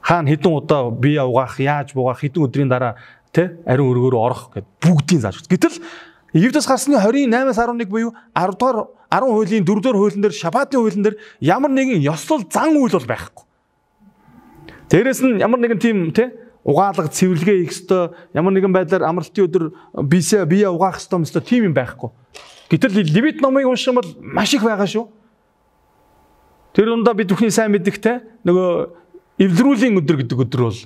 Хаана хэдэн удаа бие угаах яаж буугаах хэдэн өдрийн дараа тэ ариун өргөөрөө орох гэд бүгдийн зааж өгсөн. Гэтэл Египтээс гарсны двадцать наймаас арван нэг буюу арав дугаар арван хуулийн дөрөв дугаар хуулийн дээр шабатын хуулийн дээр ямар нэгэн ёслол зан үйл бол байхгүй. Дээрээс нь ямар нэгэн тийм тий угаалга цэвэрлэгээ хийх ёстой ямар нэгэн байдлаар амралтын өдөр бие бие угаах ёстой юм ёстой тийм юм байхгүй. Гэтэл Левит номыг унших юм бол маш их байгаа шүү. Тэр дундаа бид бүхний сайн мэддэг те нөгөө эвлэрүүлийн өдөр гэдэг өдөр бол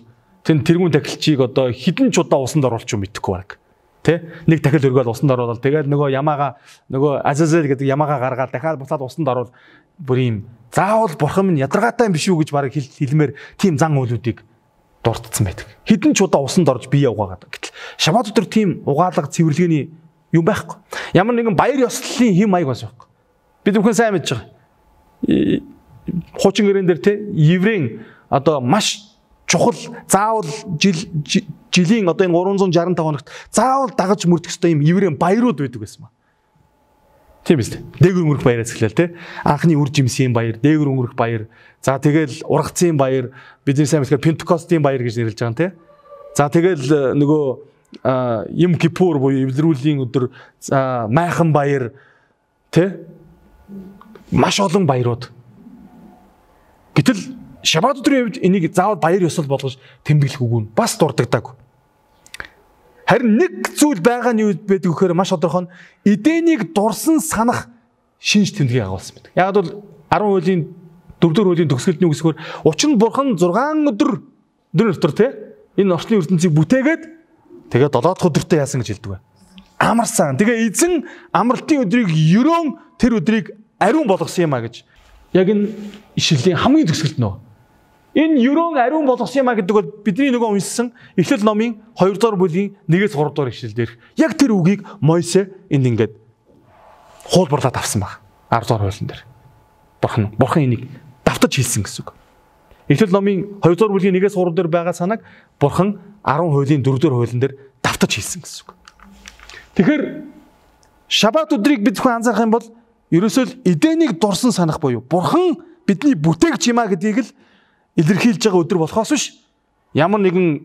тэн тэргүүн тахилчийг одоо хідэн ч удаа усанд оруулах юм мэдэхгүй баг. Тэ нэг тахил өргөөл усанд оруулаад тэгээд нөгөө ямаага нөгөө Азазел гэдэг ямаага гаргаад дахиад буцаад усанд оруул бүр юм заавал Бурхан минь ядаргаатай юм биш үү гэж баг хэлмээр тийм зан үйлүүдийг дурдсан байдаг. Хідэн ч удаа усанд орж бие угаагаад. Гэтэл шабат өдөр тийм угаалга цэвэрлэгээний юм байхгүй. Ямар нэгэн баяр ёслолын хэм маяг бас байхгүй. Бид бүхэн сайн мэдж байгаа. Хуучин гэрэн дээр те еврейн одоо маш чухал заавал жил жилийн одоо энэ гурван зуун шаран таван хоногт заавал дагаж мөрдөх ёстой юм еврейн баярууд байдаг байсан ба. Тийм биз дээ. Дээгүр өнгөрөх баяраас эхлэв те. Анхны үр жимсийн баяр, дээгүр өнгөрөх баяр. За тэгэл ургацын баяр, бидний сайн мэдхээр Пентекостийн баяр гэж нэрлэж байгаа юм те. За тэгэл нөгөө Юм Кипур буюу эвлэрүүлийн өдөр майхан баяр те. Маш олон баярууд. Гэтэл шабат өдрийн үед энийг заавал баяр ёслол болгож тэмдэглэх үгүй нь бас дурддаг. Харин нэг зүйл байгаа нь юу байдаг вэхээр маш тодорхой нь эдэнийг дурсан санах шинж тэмдгийг агуулсан байдаг. Яг бол арван хуулийн дөрөвдүгээр хуулийн төгсгөлтний үгсээр учир нь Бурхан зургаан өдөр өдөр дотор те энэ орчны ертөнцийг бүтээгээд тэгээд долоодох өдөртөө яасан гэж хэлдэг бай. Амарсан. Тэгээ эзэн амралтын өдрийг ерөөн тэр өдрийг ариун болгосон юм а гэж. Яг энэ ишлэлийн хамгийн төгсгөлт нөө. Энэ ерөөн ариун болгосон юм а гэдэг бол бидний нөгөө уншсан Эхлэл номын хоёр дугаар бүлгийн нэгээс гурав дугаар ишлэл дээр яг тэр үгийг Мойсе энд ингээд хуулбарлаад авсан баг. арав дугаар хуулийн дээр. Бурхан Бурхан энийг давтаж хэлсэн гэсэн үг. Эхлэл номын хоёр дугаар бүлгийн нэгээс гурав дээр байгаа санааг Бурхан арван хуулийн дөрөв дугаар хуулийн дээр давтаж хэлсэн гэсэн үг. Тэгэхээр шабат өдрийг бид зөвхөн анзаарах юм бол ерөөсөө эдэнийг дурсан санах буюу Бурхан бидний бүтээгч юм а гэдгийг л илэрхийлж байгаа өдөр болохоос биш ямар нэгэн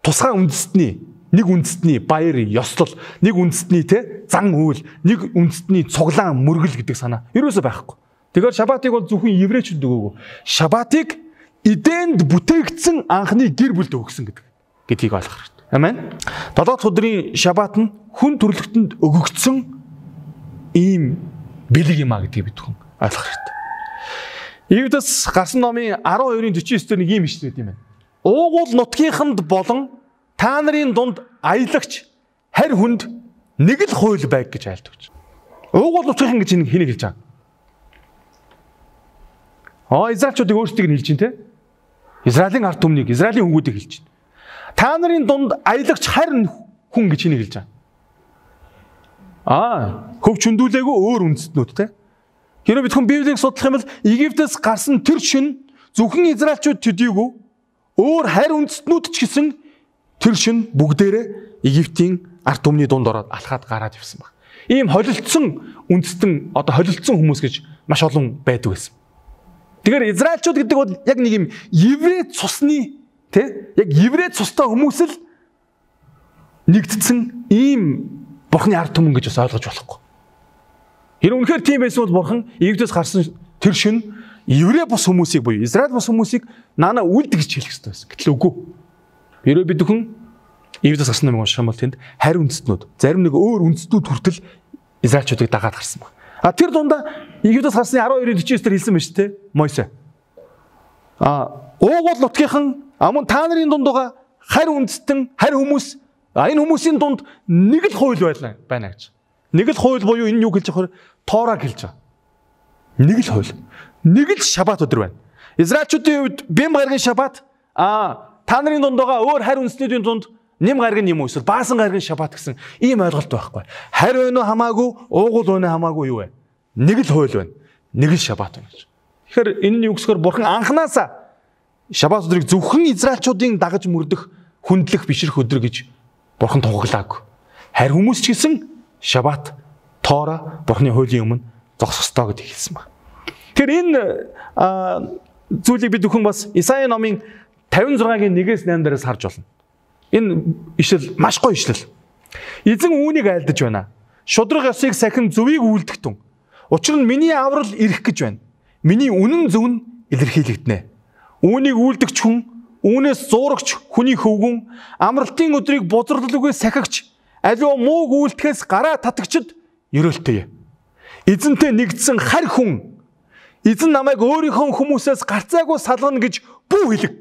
тусгай үндэстний нэг үндэстний баяр ёслол нэг үндэстний те зан үйл нэг үндэстний цуглаан мөргөл гэдэг санаа ерөөсөө байхгүй. Тэгэхээр шабатыг бол зөвхөн еврейчүүд өгөөгүй. Шабатыг эдэнд бүтээгдсэн анхны гэр бүлд өгсөн гэдэг гэдгийг ойлгох хэрэгтэй. Амен. долоо дахь өдрийн шабат нь хүн төрлөختөнд өгөгдсөн ийм бэлэг юм а гэдгийг бид хүн ойлгох хэрэгтэй. Египтэс гарсан номын арван хоёрын дөрвөн девять дээр нэг юм ишлээд юм байна. Уугуул нутгийнханд болон та нарын дунд аялагч харь хүнд нэг л хууль байг гэж айлтгаж. Уугуул нутгийнхан гэж энэ хэнийг хэлж байгаа. Аа Израильчуудыг өөрсдийг нь хэлж байна те. Израилийн ард түмнийг, Израилийн хүмүүдийг хэлж байна. Та нарын дунд аялагч харь хүн гэж хэнийг хэлж байгаа. Аа хөв чөндүүлээгүй өөр үндэстнүүд те. Хэрэв бид хүн Библийг судлах юм бол Египтээс гарсан тэр шин зөвхөн Израильчууд төдийгүй өөр харь үндэстнүүд ч гэсэн тэр шин бүгдээрээ Египтийн ард түмний дунд ороод алхаад гараад явсан баг. Ийм холилдсон үндэстэн одоо холилдсон хүмүүс гэж маш олон байдаг байсан. Тэгэхээр Израильчууд гэдэг бол яг нэг юм еврей цусны тий яг еврей цустай хүмүүс л нэгдсэн ийм Бурхны ард түмэн гэж бас ойлгож болохгүй. Хэрэг үнэхээр тийм байсан бол Бурхан Египтээс гарсан тэр шин еврей бус хүмүүсийг буюу Израиль бус хүмүүсийг наана үлдэх гэж хэлэх хэрэгтэй байсан. Гэтэл үгүй. Хэрэг бид хүн Египтээс гарсан юм унших юм бол тэнд харь үндэстнүүд зарим нэг өөр үндэстнүүд хүртэл Израильчуудыг дагаад гарсан байна. А тэр дундаа Египтээс гарсны арван хоёрын дөрвөн дээр хэлсэн байна шүү дээ. Мойсе. А уугуул нутгийнхан амун та нарын дунд байгаа харь үндэстэн харь хүмүүс энэ хүмүүсийн дунд нэг л хууль байлаа байна гэж. Нэг л хууль буюу энэ юу гэж яхаар Тораг хэлж байгаа. Нэг л хууль. Нэг л шабат өдөр байна. Израильчуудын хувьд бэм гаргийн шабат а та нарын дунд байгаа өөр харь үндэстнүүдийн дунд нэм гаргийн юм уу эсвэл баасан гаргийн шабат гэсэн ийм ойлголт байхгүй. Харь өнөө хамаагүй, уугуул өнөө хамаагүй юу вэ? Нэг л хууль байна. Нэг л шабат байна гэж. Тэгэхээр энэ нь юу гэхээр Бурхан анханасаа шабат өдрийг зөвхөн Израильчуудын дагаж мөрдөх, хүндлэх, бишрэх өдөр гэж Бурхан тугаглаагүй. Харь хүмүүс ч гэсэн шабат, Тора Бурханы хуулийн өмнө зогсох ёстой гэдгийг хэлсэн байна. Тэгэхээр энэ зүйлийг бид бүхэн бас Исаи номын тавин зургагийн нэгээс найман дээрээс харж болно. Энэ ишлэл маш гоё ишлэл. Эзэн үүнийг айлдаж байна. Шудраг ёсыг сахин зөвийг үйлдэгтэн. Учир нь миний аврал ирэх гэж байна. Миний үнэн зөв нь илэрхийлэгдэнэ. Үүнийг үйлдэгч хүн, үүнээс зуурагч хүний хөвгүн, амралтын өдрийг бузралгүй сахигч, аливаа мууг үйлдэхээс гараа татагчд ерөөлтэй. Эзэнтэй нэгдсэн харь хүн эзэн намайг өөрийнхөө хүмүүсээс гарцаагүй салгана гэж бүү хэлэг.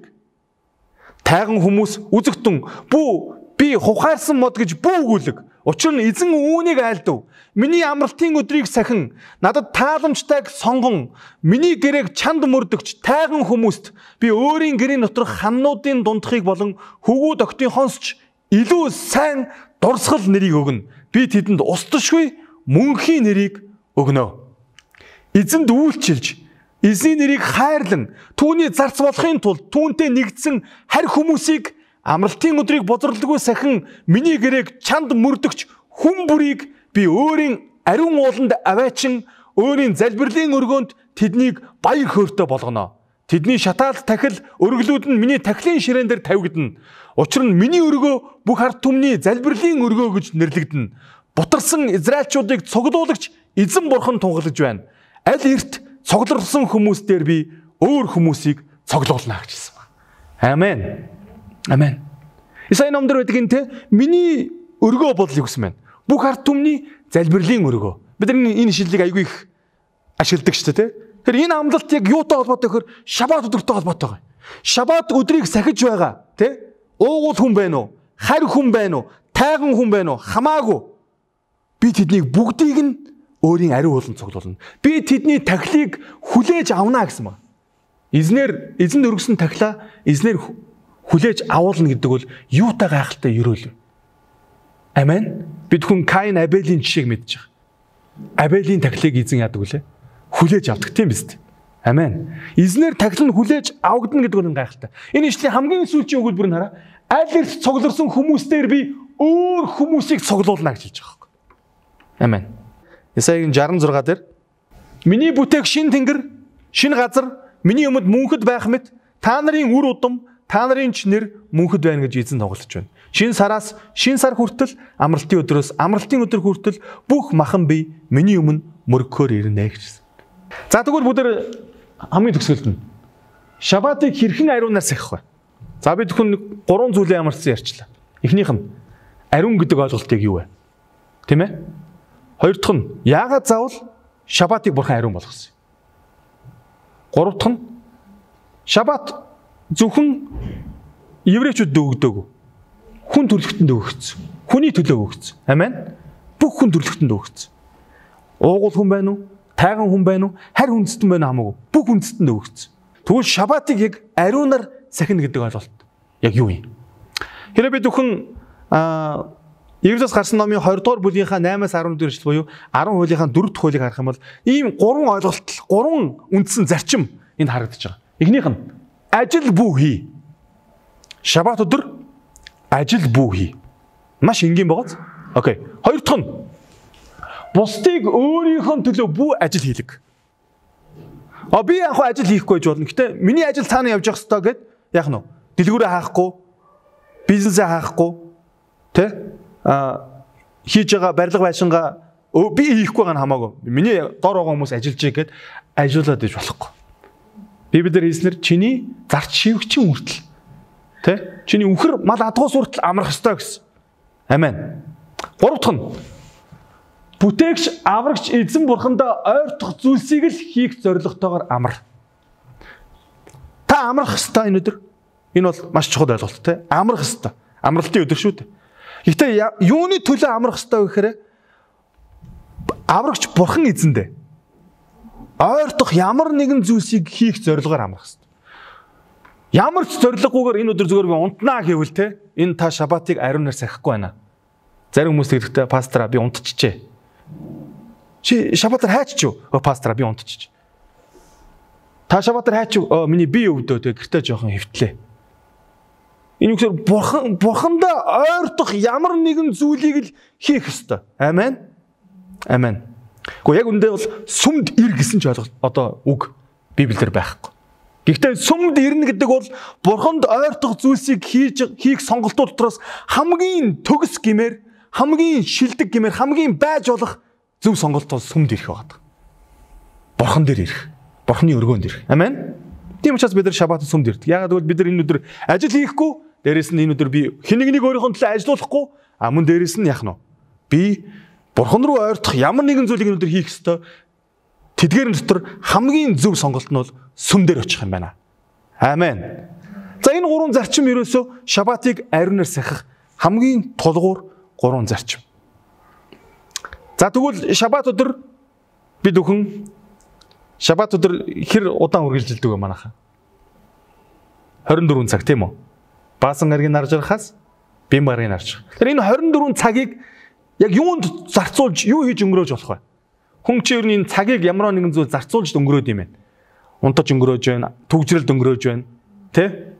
Тайган хүмүүс үзэгтэн бүү би хухаарсан мод гэж бүү өгүүлэг. Учир нь эзэн үүнийг айлдав. Миний амралтын өдрийг сахин надад тааламжтайг сонгон миний гэрээг чанд мөрдөгч тайган хүмүүст би өөрийн гэрийн доторх ханнуудын дундахыг болон хөвгүүд октын хонсч илүү сайн дурсгал нэрийг өгнө. Би тэдэнд устдашгүй мөнхийн нэрийг өгнө. Эзэнд үйлчилж эзний нэрийг хайрлан түүний зарц болохын тулд түүнтэй нэгдсэн харь хүмүүсийг амралтын өдрийг бозралгүй сахин миний гэрээг чанд мөрдөгч хүн бүрийг би өөрийн ариун ууланд аваачин өөрийн залбирлын өргөөнд тэднийг баяр хөөртэй болгоно. Тэдний шатаалт тахил өргөлүүд нь миний тахилын ширээн дээр тавигдана. Учир нь миний өргөө бүх ард түмний залбирлын өргөө гэж нэрлэгдэнэ. Бутарсан Израильчуудыг цуглуулагч эзэн Бурхан тунгалж байна. Аль эрт цоглорсон хүмүүс дээр би өөр хүмүүсийг цоглуулна гэж хэлсэн байна. Амен. Амен. Исаи номдэр байдаг энэ те миний өргөө бол юу гэсэн байна? Бүх ард түмний залбирлын өргөө. Бид энэ шилжиг айгүй их ашигладаг шүү дээ те. Тэгэхээр энэ амлалт яг юутай холбоотой гэхээр шабат өдөртэй холбоотой байгаа. Шабат өдрийг сахиж байгаа те. Уугуул хүн байна уу? Харь хүн байна уу? Тайган хүн байна уу? Хамаагүй. Би тэднийг бүгдийг нь өөрийн ариун ууланд цуглуулна. Би тэдний тахилыг хүлээж авна гэсэн байна. Эзнэр эзэнд өргөсөн тахилаа эзнэр хүлээж авуулна гэдэг бол юутай гайхалтай ерөөл. Амен. Бид хүн Каин Абелийн жишээг мэдж байгаа. Абелийн тахилыг эзэн яадаг үлээ? Хүлээж авдаг тийм биз дээ. Амен. Эзнэр тахил нь хүлээж авагдана гэдэг нь гайхалтай. Энэ ишлийн хамгийн сүүлчийн өгүүлбэр нь хараа. Аль эрт цугларсан хүмүүстээр би өөр хүмүүсийг цуглуулна гэж хэлж байгаа. Амен. Исаигийн шестьдесят six дээр миний бүтээх шин тэнгэр, шин газар, миний өмнөд мөнхөд байх мэт та нарын үр удам, та нарын ч нэр мөнхөд байна гэж эзэн тоглож байна. Шин сараас шин сар хүртэл, амралтын өдрөөс амралтын өдөр хүртэл бүх махан бие миний өмнө мөргөхөөр ирнэ гэж. За тэгвэл бүгд хамгийн төгсгөлд нь шабатыг хэрхэн ариунаар сахих вэ? За бид хүн гурван зүйлээ ямарсан ярьчлаа. Эхнийх нь ариун гэдэг ойлголтыг юу вэ? Тийм ээ? Хоёр дахь нь яагаад заавал Шабатыг бурхан ариун болгосон. Гурав дахь нь Шабат зөвхөн еврейчүүдэд өгдөөгүй. Хүн төрлөختөнд өгөгдсөн. Хүний төлөө өгөгдсөн. Амен. Бүх хүн төрлөختөнд өгөгдсөн. Уугуул хүн байна уу? Тайган хүн байна уу? Харь хүндэстэн байна хамаагүй. Бүх хүндэстэнд өгөгдсөн. Тэгвэл Шабатыг яг ариунаар сахина гэдэг ойлголт яг юу юм? Хэрэв бид бүхэн аа Египтэс гарсан номын хоёр дугаар бүлгийнхаа наймаас арван дэх эшлэл буюу арван хуулийнхаа дөрөв дэх хуулийг харах юм бол ийм гурван ойлголт, гурван үндсэн зарчим энд харагдаж байгаа. Эхнийх нь ажил бүү хий. Шабат өдөр ажил бүү хий. Маш энгийн байгааз. Окей. Хоёр дахь нь бусдыг өөрийнхөө төлөө бүү ажил хийлэг. А би яг хөө ажил хийхгүй гэж болно. Гэтэ миний ажил цаана явж явах ёстой гэд яах нь вэ? Дэлгүүрээ хаахгүй, бизнесээ хаахгүй, тэ? А хийж байгаа барилга байшингаа би хийхгүй байгаа нь хамаагүй. Миний дор байгаа хүмүүс ажиллаж байгаад ажиллаад иж болохгүй. Библиэр хэлснээр чиний зарч шивгчийн хүртэл тэ? Чиний үхэр мал адгуус хүртэл амрах ёстой гэсэн. Амен. Гурав дахь нь бүтээгч аврагч эзэн бурхандаа ойртох зүйлсийг л хийх зорилготойгоор амар. Та амрах ёстой энэ өдөр. Энэ бол маш чухал ойлголт те. Амрах ёстой. Амралтын өдөр шүү дээ. Гэхдээ юуны төлөө амрах ёстой вэ гэхээр аврагч бурхан эзэндээ ойртох ямар нэгэн зүйлсийг хийх зорилгоор амрах ёстой. Ямар ч зорилгогүйгээр энэ өдөр зүгээр би унтнаа гэвэл те энэ та шабатыг ариунаар сахихгүй байна. Зарим хүмүүс тэгдэхдээ пастора би унтчихжээ. Чи шабатаар хайчих юу? Өө пастора би унтчих. Та шабатаар хайчих юу? Миний бие өвдөө те гэртээ жоохон хэвтлээ. Энэ үгээр бурхан бурхандаа ойртох ямар нэгэн зүйлийг л хийх ёстой. Амен. Амен. Гэхдээ яг үндэ бол сүмд ир гэсэн ч ойлголт одоо үг Библиэр байхгүй. Гэхдээ сүмд ирнэ гэдэг бол бурханд ойртох зүйлсийг хийж хийх сонголтууд дотроос хамгийн төгс гэмээр, хамгийн шилдэг гэмээр, хамгийн байж болох зөв сонголт бол сүмд ирэх байдаг. Бурхан дээр ирэх. Бурханы өргөөнд ирэх. Амен. Тийм учраас бид нар шабат сүмд ирдэг. Яагаад гэвэл бид нар энэ өдөр ажил хийхгүй, дээрэс нь энэ өдөр би хэн нэгнийг өөрийнхөө төлөө ажилуулахгүй, а мөн дээрэс нь яах нь вэ? Би бурхан руу ойртох ямар нэгэн зүйлийг энэ өдөр хийх ёстой. Тэдгээр дотор хамгийн зөв сонголт нь бол сүм дээр очих юм байна. Амен. За энэ гурван зарчим ерөөсөө шабатыг ариунаар сахих хамгийн тулгуур гурван зарчим. За тэгвэл шабат өдөр бид бүхэн шабат өдөр хэр удаан үргэлжилдэг вэ манайхаа? хорин дөрвөн цаг тийм үү? Баасан гаргийн нарж харахаас бим гаргийн нарж. Тэгэхээр энэ хорин дөрвөн цагийг яг юунд зарцуулж, юу хийж өнгөрөөж болох вэ? Хүн чи ер нь энэ цагийг ямар нэгэн зүйл зарцуулж өнгөрөөд юм байна. Унтаж өнгөрөөж байна, төгжрэлд өнгөрөөж байна, тэ?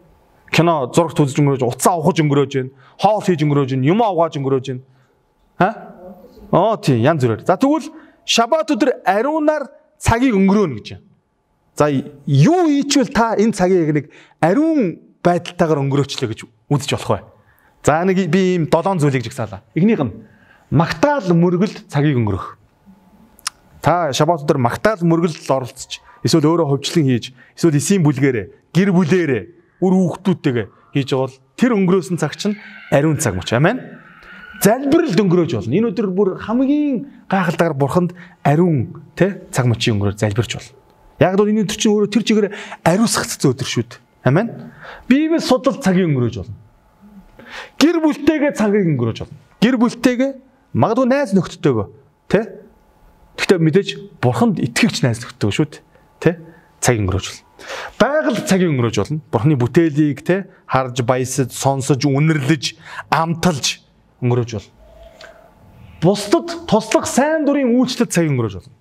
Кино зурагт үзэж өнгөрөөж, уцаа авахж өнгөрөөж байна, хоол хийж өнгөрөөж байна, юм авгааж өнгөрөөж байна. Ха? Оо тий, янз бүрээр. За тэгвэл шабат өдөр ариунаар цагийг өнгөрөөнө гэж байна. За юу хийчихвэл та энэ цагийг нэг ариун байдалтайгаар өнгөрөөчлөө гэж үзэж болох вэ? За нэг би ийм долоон зүйлийг жигсаалаа. Эхнийх нь магтаал мөргөлд цагийг өнгөрөх. Та шабат өдөр магтаал мөргөлд оролцож, эсвэл өөрөө хөвчлэн хийж, эсвэл эсийн бүлгээрээ, гэр бүлээрээ, үр хүүхдүүдтэйгээ хийж байгаа бол тэр өнгөрөөсөн цаг чинь ариун цаг мөч. Амен. Залбиралд өнгөрөөж болно. Энэ өдөр бүр хамгийн гайхалтайгаар бурханд ариун тэ цаг мөчийн өнгөрөөр залбирч болно. Яг л энэ өдөр чинь өөрөө тэр чигээр ариусгацсан өдөр шүү дээ. Амен. Библи судлал цагийг өнгөрөөж болно. Гэр бүлтэйгээ цагийг өнгөрөөж болно. Гэр бүлтэйгээ магадгүй найз нөхдөдтэйгөө тэ. Гэхдээ мэдээж бурханд итгэгч найз нөхдөдтэйгөө шүү дээ. Тэ цагийг өнгөрөөж болно. Байгаль цагийг өнгөрөөж болно. Бурханы бүтээлийг тэ харж, баясаж, сонсож, үнэрлэж, амталж өнгөрөөж болно. Бусдад туслах сайн дурын үйлчлэлд цаг өнгөрөөж болно.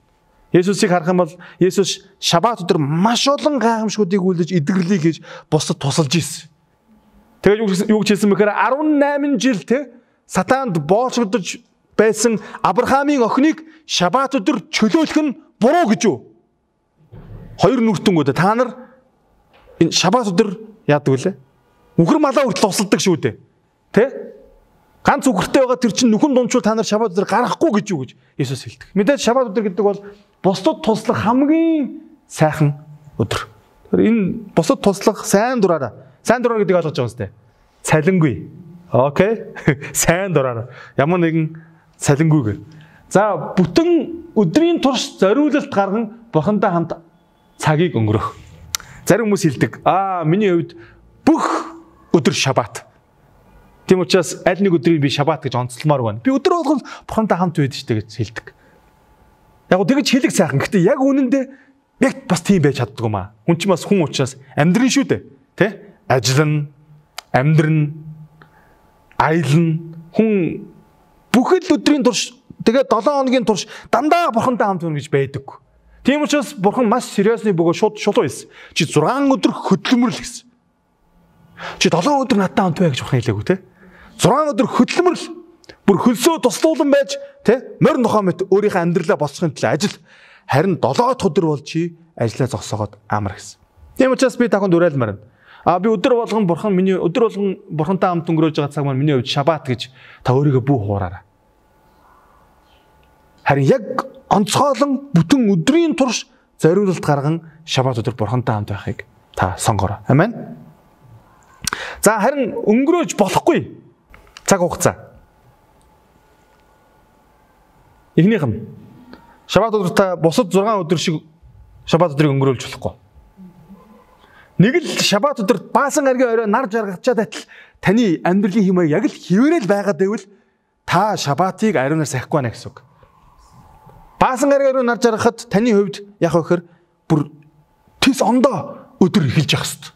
Есүсийг харах юм бол Есүс шабат өдөр маш олон гайхамшгуудыг үйлдэж, эдгэрлийг хийж бусдад тусалж ийсэн. Тэгээд юу гэж хэлсэн бэхээр арван найман жил те сатаанд боолчогдож байсан Авраамийн охиныг шабат өдөр чөлөөлөх нь буруу гэж юу? Хоёр нүртэнгүүд та нар энэ шабат өдөр яадаг вүлээ? Үхэр малаа хүртэл тусалдаг шүү дээ. Тэ? Ганц үхэртэй байгаа тэр чинь нүхэн дундчул та нар шабат өдөр гарахгүй гэж юу гэж Иесус хэлдэг. Мэдээж шабат өдөр гэдэг бол бусдад туслах хамгийн сайхан өдөр. Тэр энэ бусдад туслах сайн дураараа. Сайн дураар гэдэг ойлгож байгаа юм сте. Цалингүй. Окей. Сайн дураараа. Ямар нэгэн цалингүйгээр. За бүтэн өдрийн турш зориулалт гарган Бурхантай хамт цагийг өнгөрөх. Зарим хүмүүс хэлдэг, аа миний хувьд бүх өдөр шабат. Тийм учраас аль нэг өдрийг би шабат гэж онцлмоор байна. Би өдөр болгон Бурхантай хамт байдаг штэ гэж хэлдэг. Яг гоо тэгэж хэлэх сайхан. Гэхдээ яг үнэндээ яг бас тийм байж чаддгүй маа. Хүн ч бас хүн учраас амьдрын шүү дээ. Тэ? Ажиллана, амьдрна, аялна. Хүн бүхэл өдрийн турш тэгээд долоон хоногийн турш дандаа Бурхантай хамт байна гэж байдаг. Тийм учраас Бурхан маш сериусны бөгөө шууд шулуу хэлсэн. Чи зургаан өдөр хөдөлмөрлө гэсэн. Чи долоон өдөр надтай хамт бай гэж Бурхан хэлээгүй те. зургаан өдөр хөдөлмөрлө. Бүр хөлсөө туслуулан байж те морь нохоо мэт өөрийнхөө амьдралаа болцохын төлөө ажил. Харин долоо дахь өдөр бол чи ажлаа зогсоогоод амар гэсэн. Тийм учраас би таханд уриалмаар байна. А би өдөр болгон Бурхан миний өдөр болгон Бурхантай хамт өнгөрөөж байгаа цаг маань миний хувьд шабат гэж та өөрийгөө бүү хуураарай. Харин яг онцгойлон бүтэн өдрийн турш зориулалт гарган шабат өдөр Бурхантай хамт байхыг та сонгоорой. Амен. За харин өнгөрөөж болохгүй цаг хугацаа. Эхнийх нь шабат өдөр та бусад зургаан өдөр шиг шабат өдрийг өнгөрүүлж болохгүй. Нэг л шабат өдөр баасан гаргийн орой нар жаргачаад байтал таны амьдралын хэмээг яг л хിവэрэл байгаад байвал та шабатыг ариунаар сахихгүй байна гэсэн үг. Баасан гаргийн орой нар жаргахад таны хувьд яг вөхөр бүр тис ондоо өдөр эхэлж явах хэрэгтэй.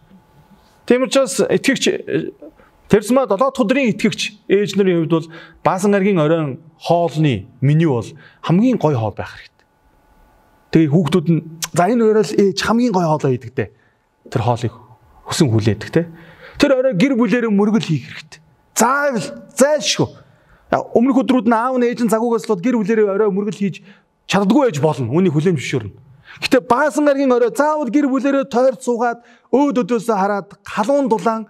Тийм учраас итгэгч Тэрсмаа долоо дахь өдрийн итгэгч ээж нарын хувьд бол баасан гаргийн оройн хоолны меню бол хамгийн гоё хоол байх хэрэгтэй. Тэгээ хүүхдүүд нь за энэ орой л ээж хамгийн гоё хоолоо хийдэг дээ. Тэр хоолыг хүсэн хүлээдэг те. Тэр орой гэр бүлээрээ мөргөл хийх хэрэгтэй. Заавал зайлшгүй. Өмнөх өдрүүд нь аав нь ээж нь загуугаас л гэр бүлээрээ орой мөргөл хийж чаддгүй байж болно. Үүнийг хүлээн зөвшөөрнө. Гэтэ баасан гаргийн орой заавал гэр бүлээрээ тойрч суугаад өөд өдөөсөө хараад халуун дулаан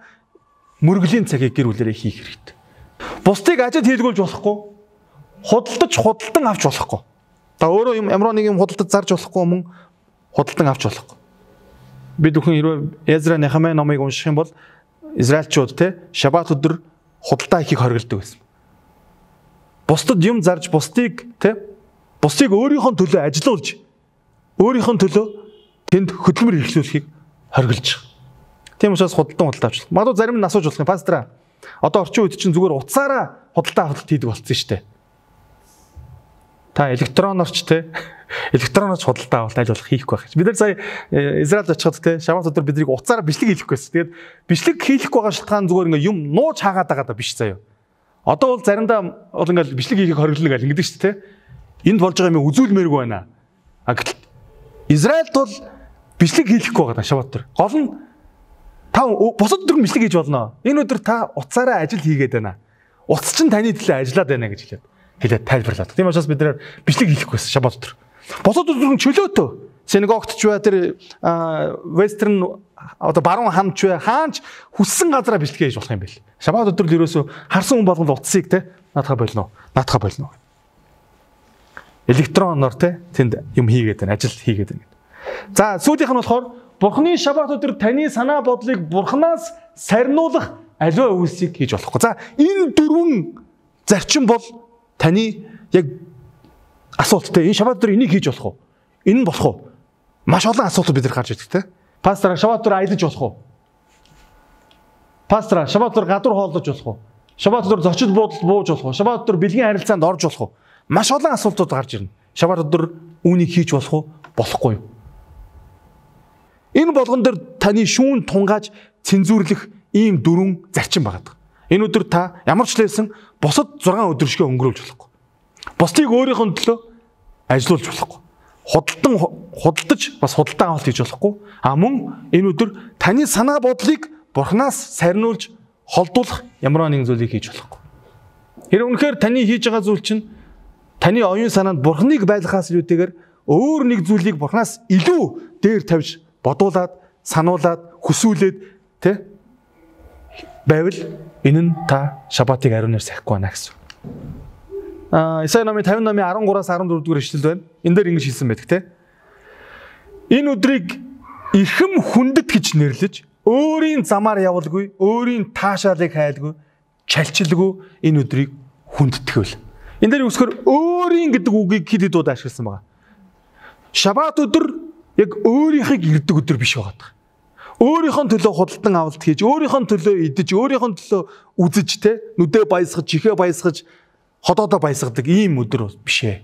мөргөлийн цагийг гэр бүлээрээ хийх хэрэгтэй. Бусдыг ажид хийлгүүлж болохгүй. Худалдаж худалдан авч болохгүй. Та өөрөө юм ямар нэг юм худалдаж зарж болохгүй мөн худалдан авч болохгүй. Бид бүхэн хэрвээ Эзра Нехемия номыг унших юм бол Израильчууд те шабат өдөр худалдаа хийхийг хориглодог байсан. Бусдад юм зарж бусдыг те бусдыг өөрийнхөө төлөө ажилуулж өөрийнхөө төлөө тэнд хөдөлмөр хэрэглүүлэхийг хориглож байгаа. Тийм учраас худалдан худалдаа авч. Магадгүй зарим нь асууж болох юм. Пастраа. Одоо орчин үед чинь зүгээр утсаараа худалдаа авалт хийдэг болсон шүү дээ. Та электронорч те электронорч худалдаа авалт аль болох хийхгүй байх. Бид нар сая Израильд очиход те шабат өдөр биднийг утсаараа бичлэг хийхгүй байсан. Тэгээд бичлэг хийхгүй байгаа шалтгаан зүгээр ингээ юм нууж хаагаад байгаа даа биш заяа. Одоо бол заримдаа бол ингээл бичлэг хийхийг хориглоно гэл ингэдэг шүү те. Энд болж байгаа юм үзүүлмээргүй байна. А гэтэл Израильд бол бичлэг хийхгүй байгаа даа шабат өдөр. Гол нь та бусад өдөр бичлэг хийж болно. Энэ өдөр та утсаараа ажил хийгээд байна. Утас чинь таны төлөө ажиллаад байна гэж хэлээд хэлээд тайлбарлаад. Тийм учраас бид нэр бичлэг хийхгүйсэн шабат өдөр. Бусад өдөр нь чөлөөтөө. Синагогт ч бай тэр вестерн одоо баруун хамт ч бай хаанч хүссэн газараа бичлэг хийж болох юм бэл. Шабат өдөр л ерөөсөө харсан хүн болгонд утсыг те наатаха болно. Наатаха болно. Электроноор те тэнд юм хийгээд байна. Ажил хийгээд байна. За сүүлийнх нь болохоор Бурхны шабат өдөр таны санаа бодлыг Бурханаас сарниулах аливаа үйлсийг хийж болохгүй. За энэ дөрвөн зарчим бол таны яг асуулттай. Энэ шабат өдөр энийг хийж болох уу? Энэ нь болох уу? Маш олон асуулт бид нар гарч ирдэг те. Пастор шабат өдөр аялаж болох уу? Пастор шабат өдөр гадуур хооллож болох уу? Шабат өдөр зочид буудалд бууж болох уу? Шабат өдөр бэлгийн харилцаанд орж болох уу? Маш олон асуултууд гарч ирнэ. Шабат өдөр үүнийг хийж болох уу? Болохгүй юу? Энэ болгон дээр таны шүүн тунгааж цензуурлах ийм дөрвөн зарчим байгаа. Энэ өдөр та ямар ч лээсэн бусад зургаан өдөр шиг өнгөрүүлж болохгүй. Бусдыг өөрийнхөө төлөө ажилуулж болохгүй. Худалдан худалдаж бас худалдан авалт хийж болохгүй. А мөн энэ өдөр таны санаа бодлыг Бурханаас сарниулж холдуулах ямар нэгэн зүйлийг хийж болохгүй. Тэр үнэхээр таны хийж байгаа зүйл чинь таны оюун санаанд Бурханыг байлгахаас илүүтэйгээр өөр нэг зүйлийг Бурханаас илүү дээр тавьж бодуулаад, сануулад, хүсүүлээд тэ байвал энэ нь та шабатыг ариунаар сахихгүй байна гэсэн. Аа, Исая номын петдесят номын арван гураас арван дөрөв дугаар ишлэл байна. Энэ дээр ингэж хэлсэн байдаг тэ. Энэ өдрийг ихэм хүндэт гэж нэрлэж, өөрийн замаар явалгүй, өөрийн таашаалыг хайлгүй, чалчилгүй энэ өдрийг хүндтгэвэл. Энэ дээр үсгэр өөрийн гэдэг үгийг хэд хэд удаа ашигласан байгаа. Шабат өдөр яг өөрийнхийг ирдэг өдөр биш байгаа. Өөрийнхөө төлөө худалдан авалт хийж, өөрийнхөө төлөө идэж, өөрийнхөө төлөө үзэж те нүдээ баясгаж, чихээ баясгаж, ходоодоо баясгадаг ийм өдөр биш ээ.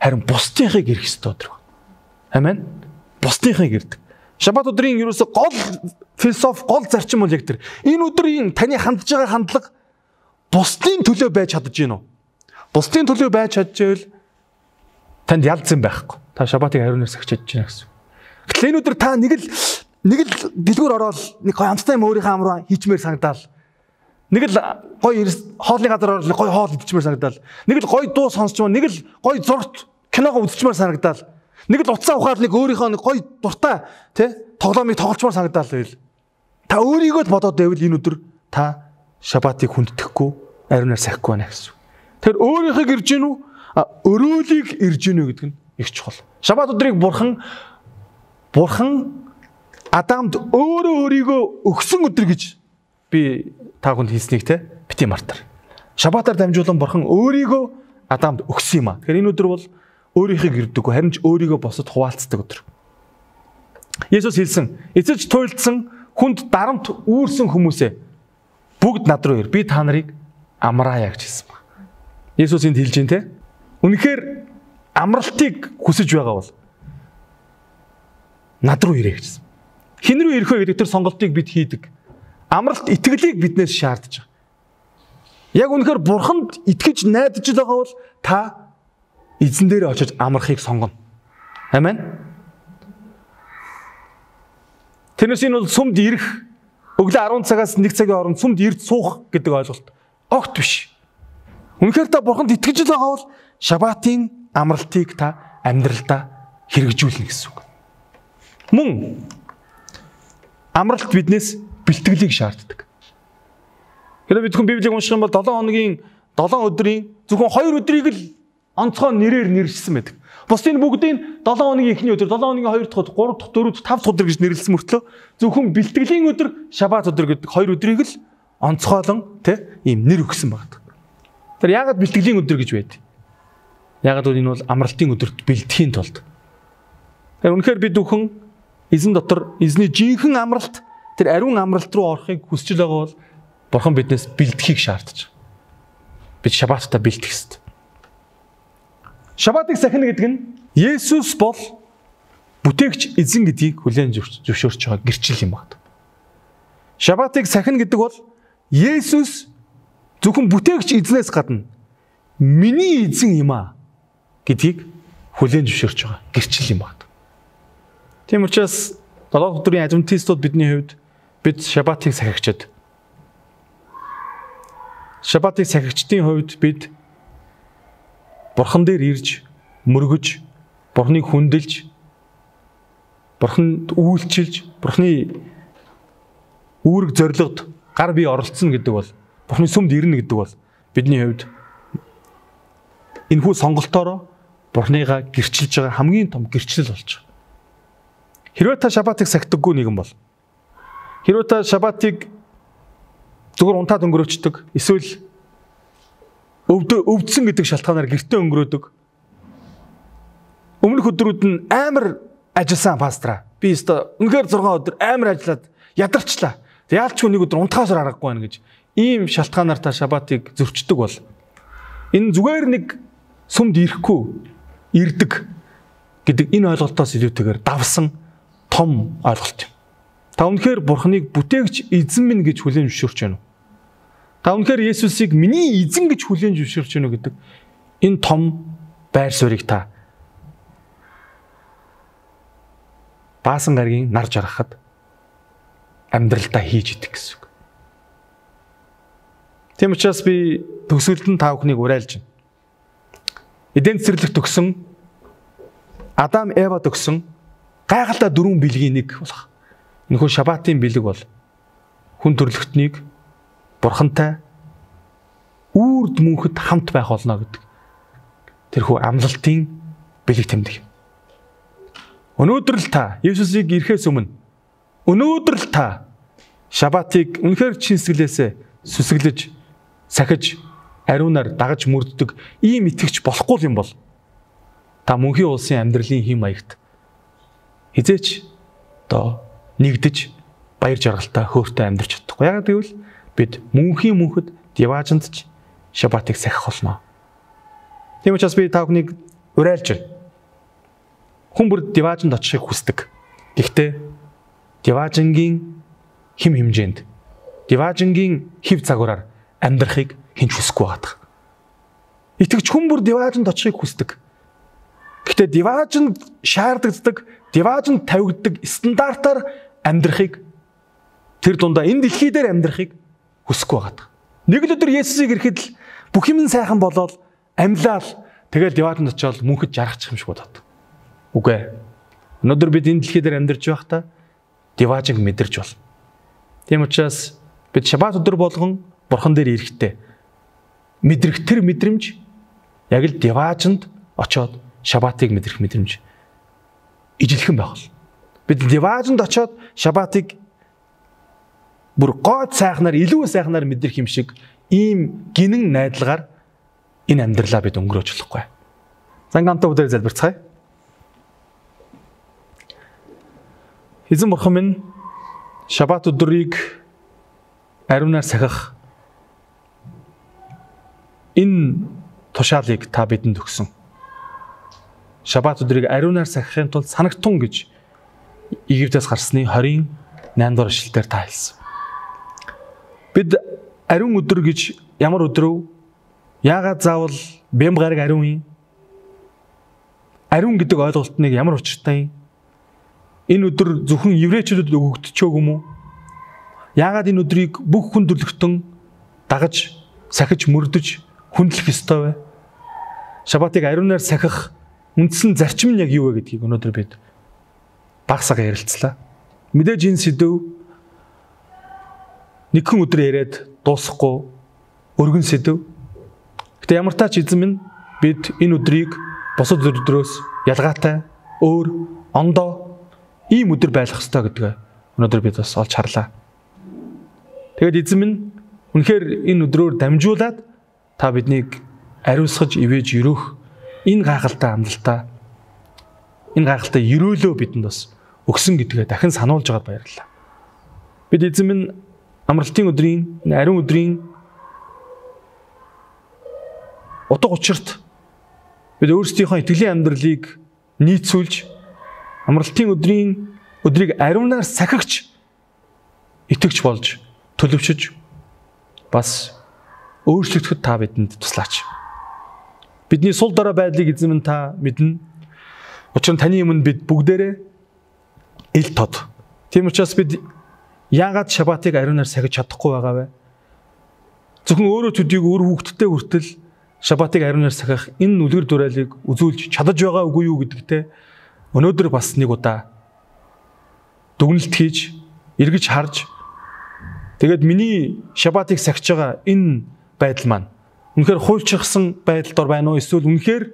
Харин бусдынхыг ирэх ёстой өдөр. Амен. Бусдынхыг ирдэг. Шабат өдрийн ерөөсө гол философи, гол зарчим бол яг тэр. Энэ өдрийн таны хандж байгаа хандлага бусдын төлөө байж чадж гин үү? Бусдын төлөө байж чадчихвэл танд ялцсан байхгүй. Та шабатыг хариунаас агчиж байна гэсэн. Гэтэл энэ өдөр та нэг л нэг л дэлгүүр ороод нэг гоё амттай юм өөрийнхөө амраа хийчмээр санагдаал. Нэг л гоё хоолны газар ороод гоё хоол идчихмээр санагдаал. Нэг л гоё дуу сонсчмаар, нэг л гоё зурт киногоо үзчихмээр санагдаал. Нэг л утсаа ухаад нэг өөрийнхөө нэг гоё дуртай тий тоглоомыг тоглолцмоор санагдаал байл. Та өөрийгөө л бодоод байвал энэ өдөр та шабатыг хүндэтгэхгүй, ариунаар сахихгүй байна гэсэн. Тэр өөрийнхөө ирж гин үү? Өрөөлийг ирж гин үү гэдэг нь их чухал. Шабат өдрийг бурхан бурхан Адамд өөрөө өөрийгөө өгсөн өдөр гэж би та бүхэнд хэлснийг те бити мартар. Шабатаар дамжуулан бурхан өөрийгөө Адамд өгсөн юм а. Тэгэхээр энэ өдөр бол өөрийнхөө ирдэггүй, харин ч өөрийгөө босод хуваалцдаг өдөр. Есүс хэлсэн, эцэж туйлдсан хүнд дарамт үүрсэн хүмүүсээ бүгд над руу ир. Би та нарыг амраая гэж хэлсэн ба. Есүс энд хэлж байна те. Үнэхээр амралтыг хүсэж байгаа бол над руу ирээ гэсэн. Хэн рүү ирэх вэ гэдэг тэр сонголтыг бид хийдэг. Амралт итгэлийг биднээс шаардж байгаа. Яг үнэхээр бурханд итгэж найдаж байгаа бол та эзэн дээр очиж амрахыг сонгоно. Амен. Тэрнээс энэ бол сүмд ирэх өглөө арван цагаас нэг цагийн хооронд сүмд ирд суух гэдэг ойлголт огт биш. Үнэхээр та бурханд итгэж байгаа бол шабатын амралтыг та амьдралдаа хэрэгжүүлнэ гэсэн үг. Мөн амралт биднээс бэлтгэлийг шаарддаг. Хэрвээ бид хүн Библийг унших юм бол долоон хоногийн долоон өдрийн зөвхөн хоёр өдрийг л онцгой нэрээр нэрлэсэн байдаг. Бусдын бүгдийн долоон хоногийн эхний өдөр, долоон хоногийн хоёр дахь өдөр, гурав дахь, дөрөв дахь, тавд дахь өдөр гэж нэрлэсэн мөртлөө зөвхөн бэлтгэлийн өдөр, шабат өдөр гэдэг хоёр өдрийг л онцгойлон тэ ийм нэр өгсөн байдаг. Тэр яагаад бэлтгэлийн өдөр гэж байд? Яагаад гэвэл энэ бол амралтын өдөрт бэлтгэхийн тулд. Тэр үнэхээр бид бүхэн эзэн дотор эзний жинхэнэ амралт, тэр ариун амралт руу орохыг хүсэж байгаа бол бурхан биднээс бэлтгэхийг шаардаж. Бид шабаттаа бэлтгэх ёстой. Шабатыг сахина гэдэг нь Есүс бол бүтээгч эзэн гэдгийг хүлээн зөвшөөрч байгаа гэрчил юм байна. Шабатыг сахина гэдэг бол Есүс зөвхөн бүтээгч эзнээс гадна миний эзэн юм а гэдгийг хүлээн зөвшөөрч байгаа гэрчил юм байна. Тийм учраас долоо өдрийн адвентистууд бидний хувьд бид шабатыг сахигчид. Шабатыг сахигчдын хувьд бид бурхан дээр ирж, мөргөж, бурханыг хүндэлж, бурханд үйлчилж, бурханы үүрэг зорилгод гар бие оролцсон гэдэг бол, бурханы сүмд ирнэ гэдэг бол бидний хувьд энэхүү сонголтоороо бурханыгаа гэрчилж байгаа хамгийн том гэрчлэл болж байгаа. Хэрвээ та шабатыг сахидаггүй нэгэн бол, хэрвээ та шабатыг зүгээр унтаад өнгөрөөчдөг, эсвэл өвдө өвдсөн гэдэг шалтгаанаар гэртээ өнгөрөөдөг. Өмнөх өдрүүд нь амар ажилласан пастраа. Би өстө үнэхээр зургаан өдөр амар ажиллаад ядарчлаа. Яалчгүй нэг өдөр унтахаас аргагүй байна гэж ийм шалтгаанаар та шабатыг зөрчдөг бол энэ зүгээр нэг сүмд ирэхгүй ирдэг гэдэг энэ ойлголтоос илүүтэйгээр давсан том ойлголт юм. Та үнэхээр бурханыг бүтээгч эзэн минь гэж хүлээн зөвшөөрч байна уу? Та үнэхээр Есүсийг миний эзэн гэж хүлээн зөвшөөрч байна уу гэдэг энэ том байр суурийг та баасан гаргийн нар жаргахад амьдралдаа хийж идэх гэсэн үг. Тийм учраас би төгсгөлд нь та бүхнийг уриалж байна. Эден цэцэрлэгт төгсөн Адам Эва төгсөн гайхалтай дөрвөн бэлгийн нэг болох. Энэхүү шабатын бэлэг бол хүн төрлөختнийг бурхантай үрд мөнхөд хамт байх болно гэдэг тэрхүү амлалтын бэлэг тэмдэг. Өнөөдөр л та Есүсийг ирэхээс өмнө өнөөдөр л та шабатыг үнэхээр чин сэтгэлээсээ сүсгэлж, сахиж, ариунаар дагаж мөрддөг ийм итгэж болохгүй юм бол та мөнхийн улсын амьдралын хэм маягт хизээч одоо нэгдэж баяр жаргалтай хөөртэй амьдарч чадахгүй. Яагаад гэвэл бид мөнхийн мөнхөд диваажинд ч шабатыг сахих болно. Тийм учраас би та бүхнийг уриалж байна. Хүн бүр диваажинд очихыг хүсдэг. Гэхдээ диваажингийн хим хэмжээнд диваажингийн хэв загвараар амьдрахыг хинч хүсэхгүй байдаг. Итгэж хүн бүр диваажинд очихыг хүсдэг. Гэхдээ диваажинд шаарддаг, диваажинд тавигддаг стандартаар амьдрахыг тэр дундаа энэ дэлхий дээр амьдрахыг хүсэхгүй байдаг. Нэг л өдөр Есүсийг ирэхэд л бүх юм сайхан болоод амьлал тэгэл диваажинд очиод мөнхөд жаргачих юм шиг бодоод. Үгүй ээ. Өнөөдөр бид энэ дэлхий дээр амьдарч байхдаа диваажинг мэдэрч бол. Тийм учраас бид шабат өдөр болгон Бурхан дээр ирэхдээ мэдрэх тэр мэдрэмж яг л диваажинд очиод шабатыг мэдрэх мэдрэмж ижилхэн байх бол. Бид диваажинд очиод шабатыг бүр гоод сайхнаар илүү сайхнаар мэдрэх юм шиг ийм гинэн найдалгаар энэ амьдралаа бид өнгөрөөж болохгүй. Зангамтай өдөр залбирцгаая. Эзэн Бурхан минь шабат өдрийг ариунаар сахих энэ тушаалыг та бидэнд өгсөн. Шабат өдрийг ариунаар сахихын тулд санагтун гэж Египтээс гарсны хорийн наймд дугаар ишлэлээр та хэлсэн. Бид ариун өдөр гэж ямар өдрөө яагаад заавал бэм гараг ариун юм? Ариун гэдэг ойлголтныг ямар учиртай юм? Энэ өдөр зөвхөн еврейчүүдэд өгөгдчихөөг юм уу? Яагаад энэ өдрийг бүх хүн төрлөختөн дагаж, сахиж, мөрдөж, хүндлэх ёстой вэ? Шабатыг ариунаар сахих үндсэн зарчим нь яг юу вэ гэдгийг өнөөдөр бид багсаага ярилцлаа. Мэдээж энэ сэдв нэгэн өдөр яриад дуусахгүй өргөн сэдв. Гэтэ ямар тач эзэн минь бид энэ өдрийг бусад өдрөөс ялгаатай, өөр, ондоо ийм өдөр байлгах ёстой гэдгээ өнөөдөр бид бас олж харлаа. Тэгэд эзэн минь үнэхээр энэ өдрөөр дамжуулаад та биднийг ариусгаж ивэж өрөөх энэ гайхалтай амлалтаа энэ гайхалтай өрөөлөө бидэнд бас өгсөн гэдгээ дахин сануулж байгаад баярлалаа. Бид эзэн минь амралтын өдрийн, ариун өдрийн утга учирт бид өөрсдийнхөө итгэлийн амьдралыг нийцүүлж амралтын өдрийн өдрийг ариунаар сахигч итгэж болж төлөвшөж бас өөрчлөгдөхөд та бидэнд туслаач. Бидний сул дорой байдлыг эзэн минь та мэднэ. Учир нь таны өмнө бид бүгдээрээ ил тод. Тийм учраас бид яагаад шабатыг ариунаар сахиж чадахгүй байгаа вэ? Зөвхөн өөрөө төдийг өөр хүүхдтэй хүртэл шабатыг ариунаар сахих энэ үлгэр дуурайлыг үзүүлж чадаж байгаа үгүй юу гэдэгтээ өнөөдөр бас нэг удаа дүгнэлт хийж, эргэж харж тэгээд миний шабатыг сахиж байгаа энэ байдал маань үнэхээр хуульчилсан байдал дор байна уу? Эсвэл үнэхээр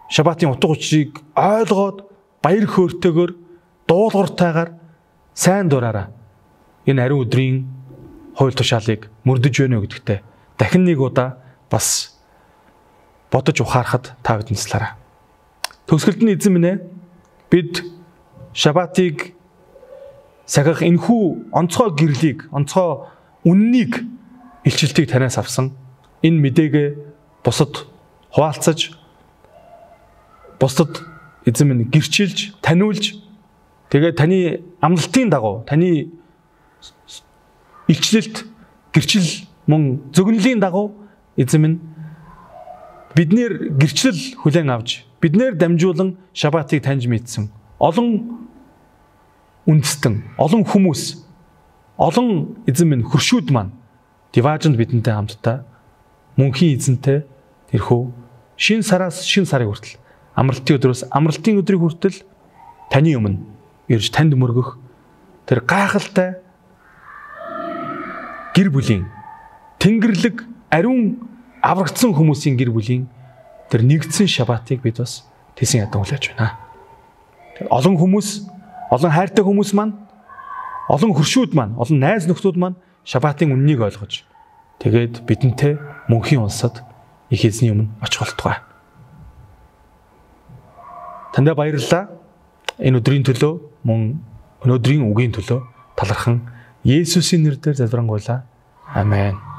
шабатын утга учирыг ойлгоод баяр хөөртэйгээр дуулууртайгаар сайн дураараа энэ ариун өдрийн хууль тушаалыг мөрдөж байна уу гэдэгтээ дахин нэг удаа бас бодож ухаарахад та бидэнд туслаарай. Төгсгөлд нь эзэн минь ээ бид шабатыг сахих энэхүү онцгой гэрлийг, онцгой үннийг, илчилтийг танаас авсан энэ мэдээгээ бусад хуваалцаж, бусад эзэн минь гэрчилж, таниулж, тэгээд таны амлалтын дагуу, таны илчлэлт, гэрчил мөн зөгнөлийн дагуу эзэн минь биднэр гэрчлэл хүлээн авч, биднэр дамжуулан шабатыг таньж мэдсэн олон үндэстэн, олон хүмүүс, олон эзэн минь хөршүүд маань диваажинд бидэнтэй хамтдаа мөнхийн эзэнтэй тэрхүү шин сараас шин сарын хүртэл амралтын өдрөөс амралтын өдрийн хүртэл таны өмнө ирж танд мөргөх тэр гайхалтай гэр бүлийн тэнгэрлэг ариун аврагдсан хүмүүсийн гэр бүлийн тэр нэгдсэн шабатыг бид бас тэсэн ядан хүлээж байна. Олон хүмүүс, олон хайртай хүмүүс маань, олон хөршүүд маань, олон найз нөхдүүд маань шабатын үннийг ойлгож тэгээд бидэнтэй мөнхийн улсад их эзний өмнө очих болтугай. Тандаа баярлалаа. Энэ өдрийн төлөө мөн өнөөдрийн үгийн төлөө талархан Есүсийн нэрээр залбирanгуйлаа. Амен.